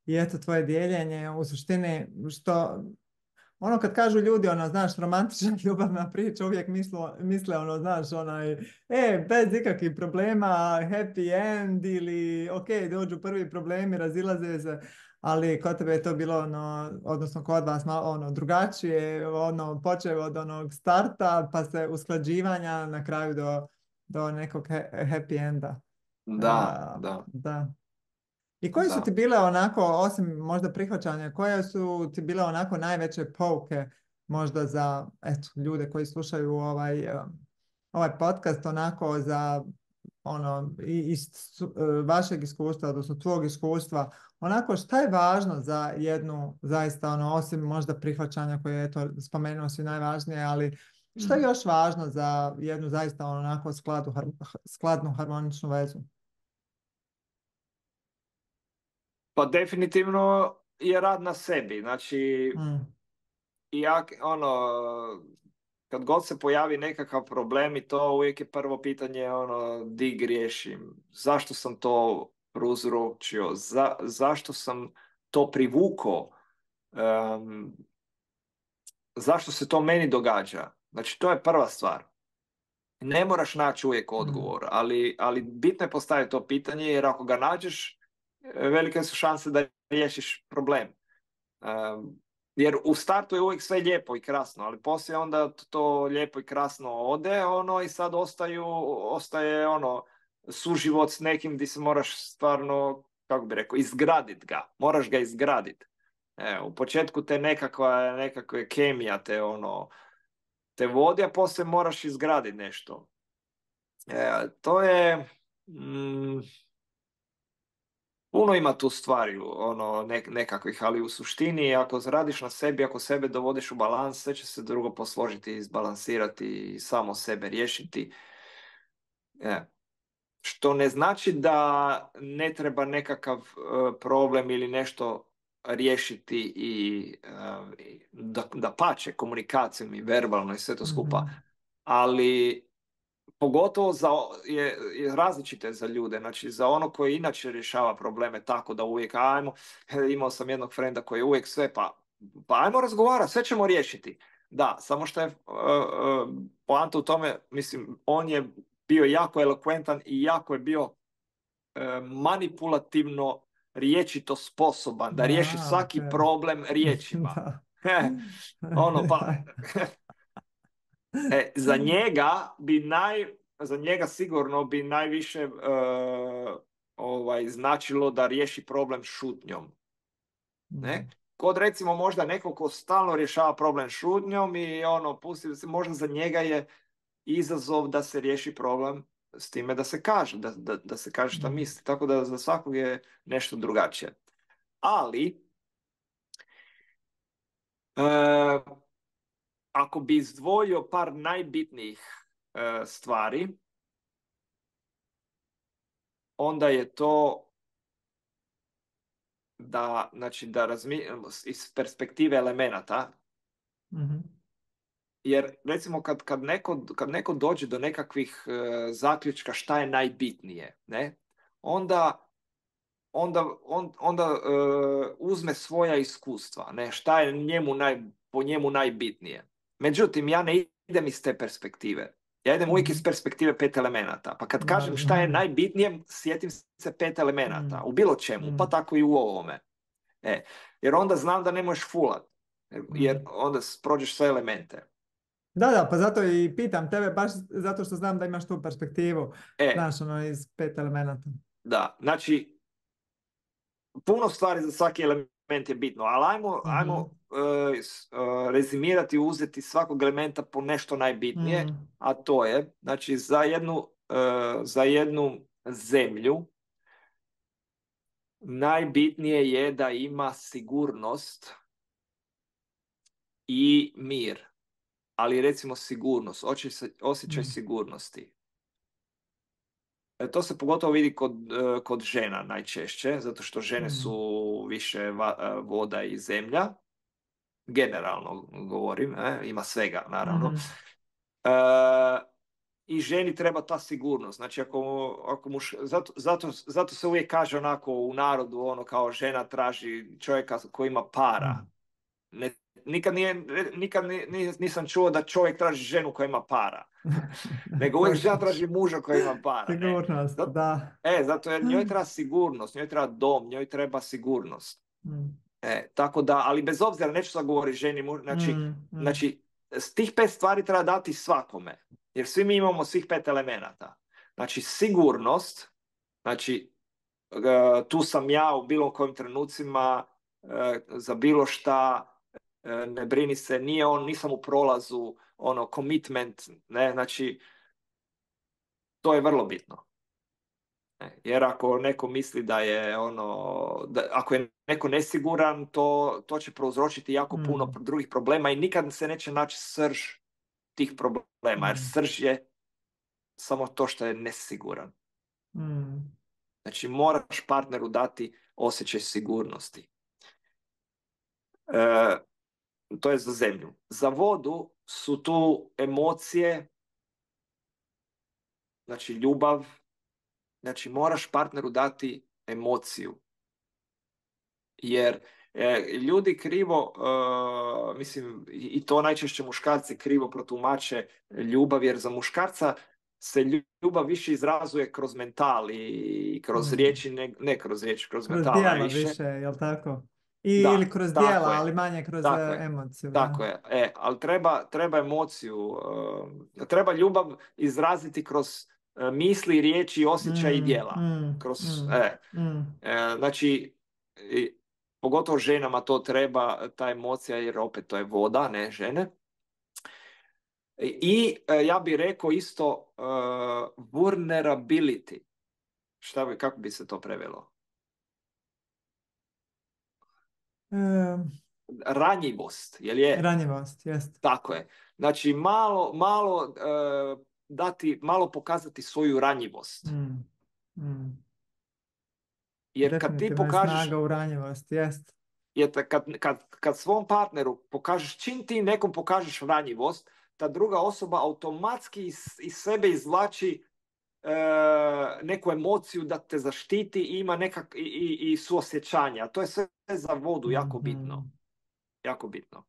S2: eto tvoje dijeljenje u suštini što kad kažu ljudi, znaš, romantična ljubavna priča, uvijek misle, znaš, bez ikakvih problema, happy end ili, ok, dođu prvi problemi, razilaze se, ali kod tebe je to bilo, odnosno kod vas malo, drugačije, počeo od onog starta, pa se usklađivanja na kraju do nekog happy enda.
S1: Da, da,
S2: Da. I koje su ti
S1: da.
S2: bile onako, osim možda prihvaćanja, koje su ti bile onako najveće pouke možda za ljude koji slušaju ovaj podcast onako za vašeg iskustva, odnosno tvog iskustva, onako šta je važno za jednu zaista osim možda prihvaćanja koje je spomenuo si najvažnije, ali šta je
S1: Mm.
S2: još važno za jednu zaista onako skladnu harmoničnu vezu?
S1: Pa definitivno je rad na sebi. Znači,
S2: Mm,
S1: kad god se pojavi nekakav problem i to uvijek je prvo pitanje di griješim, zašto sam to prouzročio, zašto sam to privukao, Em, zašto se to meni događa. Znači, to je prva stvar. Ne moraš naći uvijek
S2: mm,
S1: odgovor, ali bitno je postaviti to pitanje jer ako ga nađeš, velike su šanse da riješiš problem. Jer u startu je uvijek sve lijepo i krasno, ali poslije onda to lijepo i krasno ode i sad ostaje suživot s nekim gdje se moraš stvarno, kako bi rekao, izgradit ga. Moraš ga izgradit. U početku te nekakve kemija te vodi, a poslije moraš izgraditi nešto. To je... Mm, puno ima tu stvari, nekakvih, ali u suštini ako radiš na sebi, ako sebe dovodiš u balans, sve će se drugo posložiti, izbalansirati i samo sebe riješiti. E, što ne znači da ne treba nekakav problem ili nešto riješiti i da pače komunikacijom i verbalno i sve to skupa. Ali pogotovo je različito je za ljude. Znači, za ono koji inače rješava probleme tako da uvijek imao sam jednog frenda koji je uvijek sve, pa ajmo razgovarati, sve ćemo riješiti. Da, samo što je poanta u tome, mislim, on je bio jako elokventan i jako je bio manipulativno riječito sposoban da riješi svaki problem riječima. Ono, pa... za njega sigurno bi najviše značilo da riješi problem šutnjom. Ne? Kod recimo možda nekog ko stalno rješava problem šutnjom i možda za njega je izazov da se riješi problem s time da se kaže, da se kaže šta misli. Tako da za svakog je nešto drugačije. Ali, ako bi izdvojio par najbitnijih stvari, onda je to da iz perspektive elemenata, jer recimo kad neko dođe do nekakvih zaključka šta je najbitnije, ne? Onda uzme svoja iskustva, ne? Šta je po njemu najbitnije. Međutim, ja ne idem iz te perspektive. Ja idem uvijek iz perspektive 5 elemenata. Pa kad kažem šta je najbitnije, sjetim se 5 elemenata. U bilo čemu, pa tako i u ovome. Jer onda znam da ne možeš fulat. Jer onda prođeš sve elemente.
S2: Da, pa zato i pitam tebe, baš zato što znam da imaš tu perspektivu. Znaš, iz 5 elemenata.
S1: Da, znači, puno stvari za svaki element je bitno, ali ajmo rezimirati i uzeti svakog elementa po nešto najbitnije, a to je, znači, za jednu zemlju najbitnije je da ima sigurnost i mir. Ali recimo sigurnost, osjećaj sigurnosti. To se pogotovo vidi kod žena najčešće, zato što žene su više voda i zemlja. Generalno govorim, ima svega, naravno. I ženi treba ta sigurnost. Znači, zato se uvijek kaže onako u narodu, kao žena traži čovjeka koji ima para. Nikad nisam čuo da čovjek traži ženu koja ima para. Nego uvijek žena traži muža koji ima para.
S2: Sigurnost, da.
S1: Zato jer njoj treba sigurnost, njoj treba dom, njoj treba sigurnost. Tako da, ali bez obzira, neću sad govoriti ženi, znači, s tih 5 stvari treba dati svakome. Jer svi mi imamo svih 5 elemenata. Znači, sigurnost, znači, tu sam ja u bilo kojim trenucima za bilo šta, ne brini se, nisam u prolazu, commitment, ne, znači, to je vrlo bitno. Jer ako neko misli da je ako je neko nesiguran, to će prouzročiti jako puno drugih problema i nikad se neće naći srž tih problema, jer srž je samo to što je nesiguran. Znači, moraš partneru dati osjećaj sigurnosti. To je za zemlju. Za vodu su tu emocije, znači ljubav. Znači, moraš partneru dati emociju. Jer ljudi krivo, mislim, i to najčešće muškarci krivo protumače ljubav, jer za muškarca se ljubav više izrazuje kroz mental i kroz riječi, ne kroz riječi, kroz mental.
S2: Kroz djela više, jel tako? Ili kroz djela, ali manje kroz emociju.
S1: Tako je, ali treba emociju, treba ljubav izraziti kroz misli, riječi, osjećaj i djela. Znači, pogotovo ženama to treba, ta emocija, jer opet to je voda, ne žene. I ja bih rekao isto vulnerability. Kako bi se to prevelo? Ranjivost, jel je?
S2: Ranjivost, jest.
S1: Tako je. Znači, malo pokazati svoju ranjivost.
S2: Mm.
S1: Jer kad ti
S2: Definitivno je
S1: pokažeš,
S2: snaga u ranjivosti, jest.
S1: jer kad svom partneru pokažeš, čim ti nekom pokažeš ranjivost, ta druga osoba automatski iz sebe izvlači neku emociju da te zaštiti i ima i suosjećanja. To je sve za vodu jako bitno.
S2: Mhm.
S1: Jako bitno.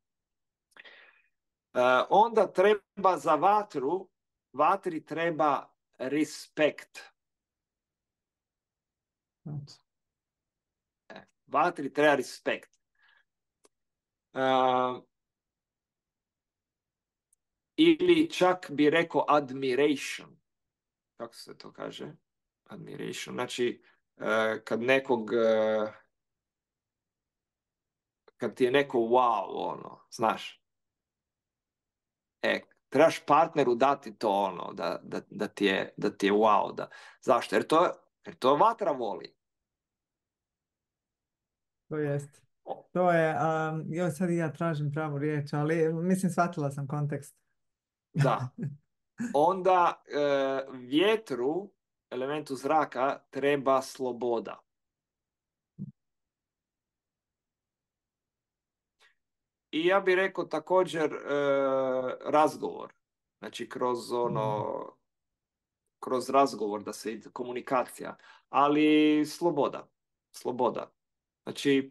S1: Onda treba za vatri treba respekt.
S2: Znači,
S1: Vatri treba respekt. Ili čak bi rekao admiration. Kako se to kaže? Admiration. Znači, kad kad ti je neko wow, ono, znaš. Trebaš partneru dati to, ono, da ti je wow. Zašto? Jer to vatra voli.
S2: to jest. To je, joj sad i ja tražim pravu riječ, ali mislim shvatila sam kontekst.
S1: Da. Onda vjetru, elementu zraka, treba sloboda. I ja bih rekao također razgovor. Znači kroz razgovor da se ide, komunikacija. Ali sloboda. Sloboda. Znači,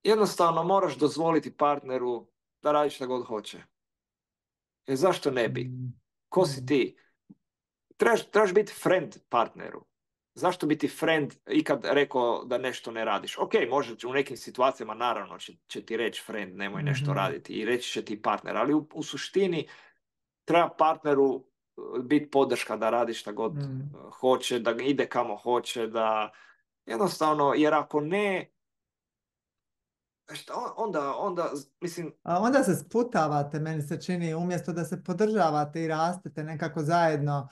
S1: jednostavno moraš dozvoliti partneru da radi šta god hoće. Zašto ne bi?
S2: Mm.
S1: Ko si ti? Trebaš biti friend partneru. Zašto biti friend ikad rekao da nešto ne radiš? Ok, može u nekim situacijama naravno će ti reći friend nemoj nešto
S2: Mhm.
S1: raditi i reći će ti partner, ali u suštini treba partneru biti podrška da radi šta god
S2: Mm.
S1: hoće, da ide kamo hoće, da jednostavno, jer ako ne, onda mislim,
S2: A onda se sputavate, meni se čini, umjesto da se podržavate i rastete nekako zajedno,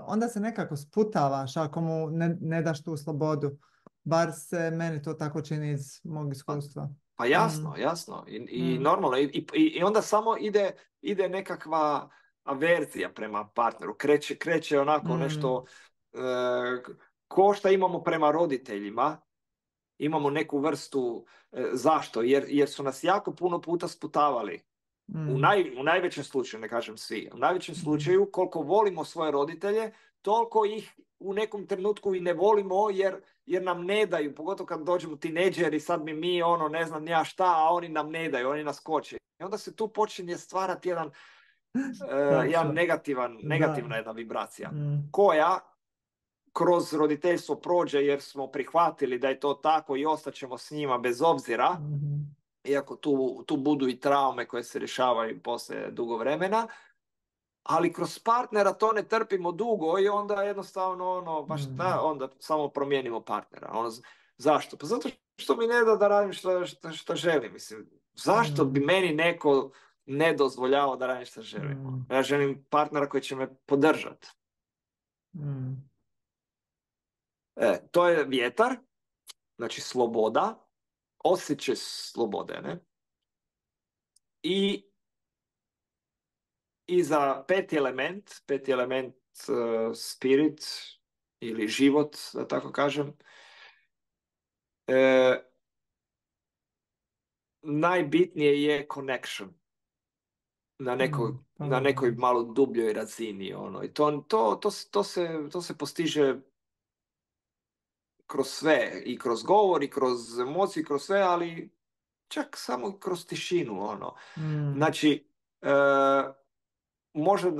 S2: onda se nekako sputavaš ako mu ne daš tu slobodu. Bar se meni to tako čini iz mog iskustva.
S1: pa
S2: Mm.
S1: jasno. I
S2: Mm.
S1: normalno. I onda samo ide nekakva averzija prema partneru. Kreće onako
S2: Mm.
S1: nešto ko šta imamo prema roditeljima. Imamo neku vrstu, zašto? Jer su nas jako puno puta sputavali.
S2: Mm.
S1: U najvećem slučaju, ne kažem svi, u najvećem
S2: Mm.
S1: slučaju koliko volimo svoje roditelje, toliko ih u nekom trenutku i ne volimo jer nam ne daju, pogotovo kad dođemo tineđeri, sad mi ono ne znam ja šta, a oni nam ne daju, oni nas koče. I onda se tu počinje stvarati jedan
S2: Točno. Da.
S1: negativna jedna vibracija
S2: Mm.
S1: koja kroz roditeljstvo prođe jer smo prihvatili da je to tako i ostaćemo s njima bez obzira,
S2: Mhm.
S1: iako tu budu i traume koje se rješavaju poslije dugo vremena, ali kroz partnera to ne trpimo dugo i onda jednostavno pa šta,
S2: Mm.
S1: onda samo promijenimo partnera. Zašto? Pa zato što mi ne da radim što želim. Mislim, zašto bi
S2: Mm.
S1: meni neko ne dozvoljavao da radim što želim?
S2: Mm.
S1: Ja želim partnera koji će me podržati.
S2: Mm.
S1: To je vjetar, znači sloboda, osjećaj slobode, ne? I za peti element spirit ili život, da tako kažem, najbitnije je connection
S2: Mm.
S1: na nekoj
S2: Povezanost.
S1: malo dubljoj razini. Ono. I to se postiže kroz sve, i kroz govor, i kroz emociju, i kroz sve, ali čak samo kroz tišinu. Ono.
S2: Mm.
S1: Znači, može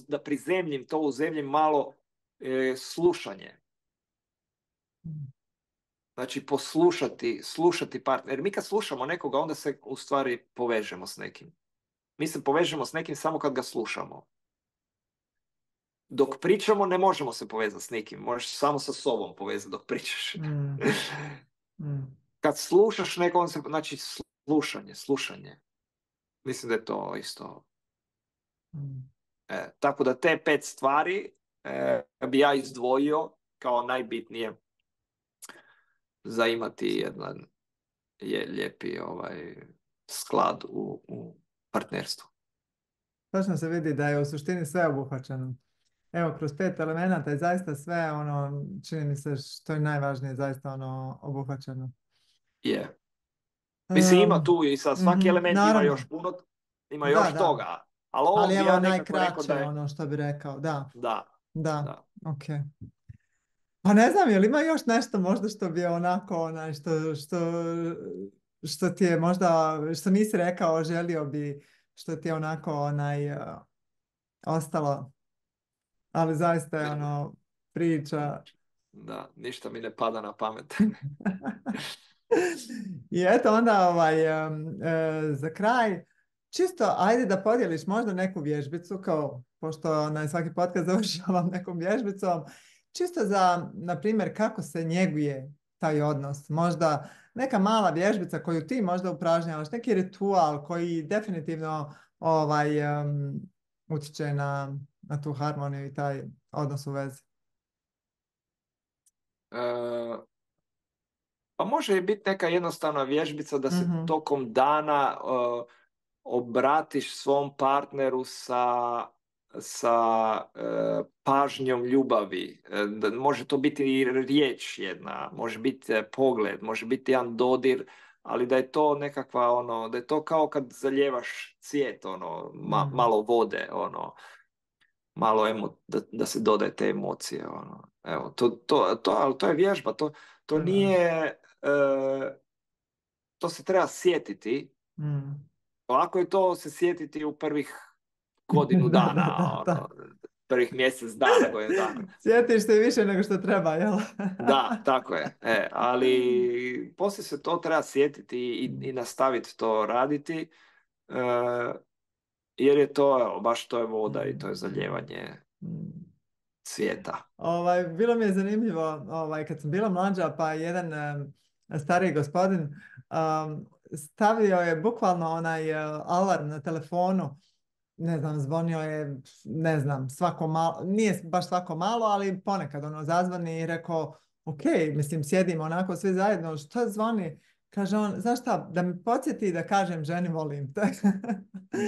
S1: da prizemljim to, uzemljim malo slušanje.
S2: Mm.
S1: Znači slušati partner. Jer mi kad slušamo nekoga, onda se u stvari povežemo s nekim. Mi se povežemo s nekim samo kad ga slušamo. Dok pričamo ne možemo se povezati s nekim. Možeš samo sa sobom povezati dok pričaš.
S2: Mm. Mm.
S1: Kad slušaš nekog, znači slušanje. Mislim da je to isto.
S2: Mm.
S1: Tako da te 5 stvari bi ja izdvojio kao najbitnije za imati jedan lijepi sklad u partnerstvu.
S2: Točno se vidi da je u suštini sve obuhvaćeno. evo, kroz 5 elemenata je zaista sve, ono, čini mi se što je najvažnije, zaista ono, obuhvaćeno.
S1: Je. Mislim, ima
S2: Um,
S1: tu i sad svaki element ima još
S2: naravno,
S1: puno, ima
S2: da,
S1: još
S2: da.
S1: toga. Ali ovo
S2: Ali
S1: bi
S2: evo
S1: ja nekako rekao da
S2: najkraće,
S1: je,
S2: ono što bi rekao, da,
S1: da,
S2: da,
S1: da.
S2: ok. Pa ne znam, je li ima još nešto možda što bi onako, što ti je možda, što nisi rekao, želio bi, što ti je onako, ostalo, ali zaista je ono, priča.
S1: Da, ništa mi ne pada na pamet.
S2: I eto onda za kraj, čisto ajde da podijeliš možda neku vježbicu, kao pošto na svaki podcast završavam nekom vježbicom, čisto za, na primjer, kako se njeguje taj odnos. Možda neka mala vježbica koju ti možda upražnjavaš, neki ritual koji definitivno utječe na tu harmoniju i taj odnos u vezi.
S1: E, Pa može i biti neka jednostavna vježbica da se
S2: Mhm,
S1: tokom dana obratiš svom partneru sa pažnjom ljubavi. Može to biti i riječ jedna, može biti pogled, može biti jedan dodir, ali da je to nekakva ono, da je to kao kad zaljevaš cvijet, ono,
S2: mhm,
S1: malo vode, ono, malo da se dodaje te emocije, ono. Evo, ali to je vježba, to
S2: da.
S1: nije, to se treba sjetiti.
S2: Mm.
S1: Lako je to se sjetiti u prvih godinu
S2: Da,
S1: dana,
S2: da, da,
S1: ono,
S2: da.
S1: prvih mjesec dana, godinu dana.
S2: Sjetiš se više nego što treba, jel?
S1: Da, tako je. Ali poslije se to treba sjetiti i nastaviti to raditi, e, jer je to, evo, baš to je voda i to je zaljevanje svijeta.
S2: Bilo mi je zanimljivo, kad sam bila mlađa, pa jedan stariji gospodin stavio je bukvalno onaj alarm na telefonu, ne znam, zvonio je, ne znam, svako malo, nije baš svako malo, ali ponekad ono zazvoni i rekao, ok, mislim, sjedimo onako svi zajedno, što zvoni? Kaže on, znaš šta, da me podsjeti da kažem ženi volim te.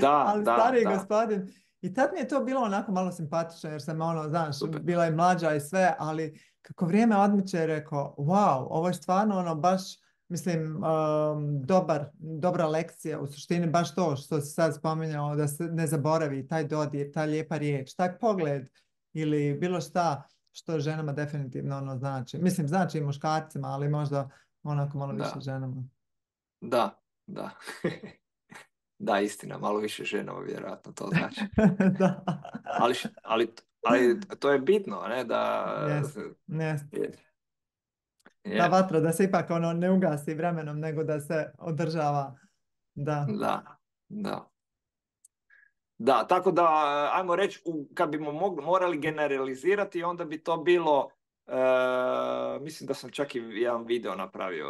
S1: Da,
S2: Ali
S1: da,
S2: stariji
S1: da,
S2: gospodin. I tad mi je to bilo onako malo simpatično, jer sam ono, znaš,
S1: super.
S2: bila i mlađa i sve, ali kako vrijeme odmiče, rekao, wow, ovo je stvarno ono baš, mislim, dobra lekcija, u suštini baš to što si sad spominjao, da se ne zaboravi taj dodir, ta lijepa riječ, taj pogled ili bilo šta što ženama definitivno ono znači. Mislim, znači i muškarcima, ali možda onako malo više
S1: Da,
S2: ženama.
S1: da, da. Da, istina, malo više ženova vjerojatno to znači.
S2: Da.
S1: Ali to je bitno, ne, da
S2: Jest, jest.
S1: je,
S2: Ta
S1: je,
S2: vatra da se ipak ono ne ugasi vremenom, nego da se održava. Da.
S1: da, da. Da, tako da, ajmo reći, kad bismo morali generalizirati, onda bi to bilo, mislim da sam čak i jedan video napravio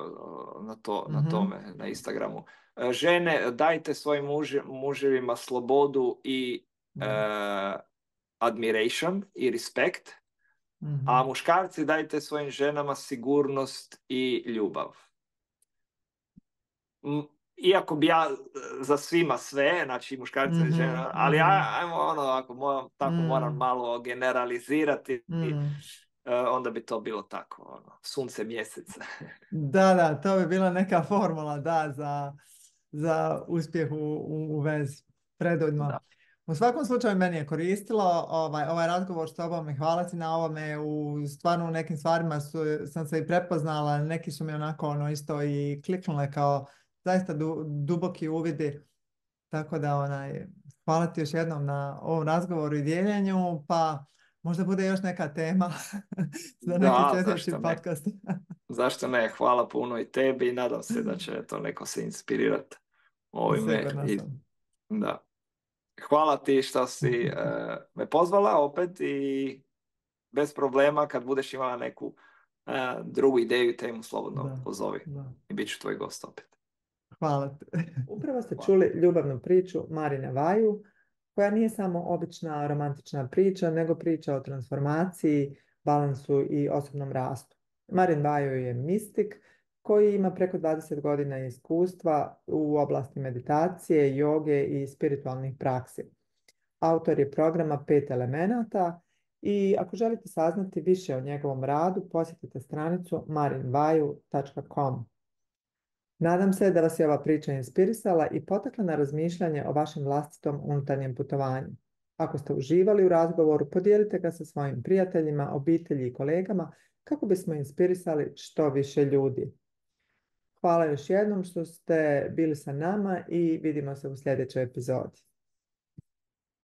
S1: na
S2: Mhm,
S1: tome, na Instagramu. Žene, dajte svojim muževima slobodu i
S2: mhm,
S1: admiration i respect, a
S2: mhm,
S1: muškarci dajte svojim ženama sigurnost i ljubav. Iako bi ja za svima sve, znači muškarci i
S2: mhm,
S1: žena, ali
S2: mhm,
S1: ajmo ono, ako tako moram
S2: mhm,
S1: malo generalizirati,
S2: mhm.
S1: onda bi to bilo tako, ono, sunce, mjesec.
S2: Da, da, to bi bila neka formula, da, za uspjeh u vezi. Predujmo.
S1: Da,
S2: U svakom slučaju meni je koristilo ovaj razgovor s tobom i hvala ti na ovome. Stvarno u nekim stvarima sam se i prepoznala, neki su mi onako ono isto i kliknule kao zaista duboki uvidi. Tako da hvala ti još jednom na ovom razgovoru i dijeljenju, pa možda bude još neka tema za neki
S1: da,
S2: sljedeći
S1: zašto ne?
S2: podcast.
S1: Zašto ne? Hvala puno i tebi i nadam se da će to neko se inspirirati ovime.
S2: Sigurna sam.
S1: Da. Hvala ti što si me pozvala opet i bez problema kad budeš imala neku drugu ideju i temu, slobodno
S2: Da,
S1: pozovi
S2: da.
S1: i bit ću tvoj gost opet.
S2: Hvala te. Upravo ste
S1: Hvala.
S2: čuli ljubavnu priču Marine Vaju, koja nije samo obična romantična priča, nego priča o transformaciji, balansu i osobnom rastu. Marin Vaju je mistik koji ima preko 20 godina iskustva u oblasti meditacije, joge i spiritualnih praksi. Autor je programa 5 elemenata I ako želite saznati više o njegovom radu, posjetite stranicu marinvaju.com. Nadam se da vas je ova priča inspirisala i potakla na razmišljanje o vašem vlastitom unutarnjem putovanju. Ako ste uživali u razgovoru, podijelite ga sa svojim prijateljima, obitelji i kolegama kako bismo inspirisali što više ljudi. Hvala još jednom što ste bili sa nama i vidimo se u sljedećoj epizodi.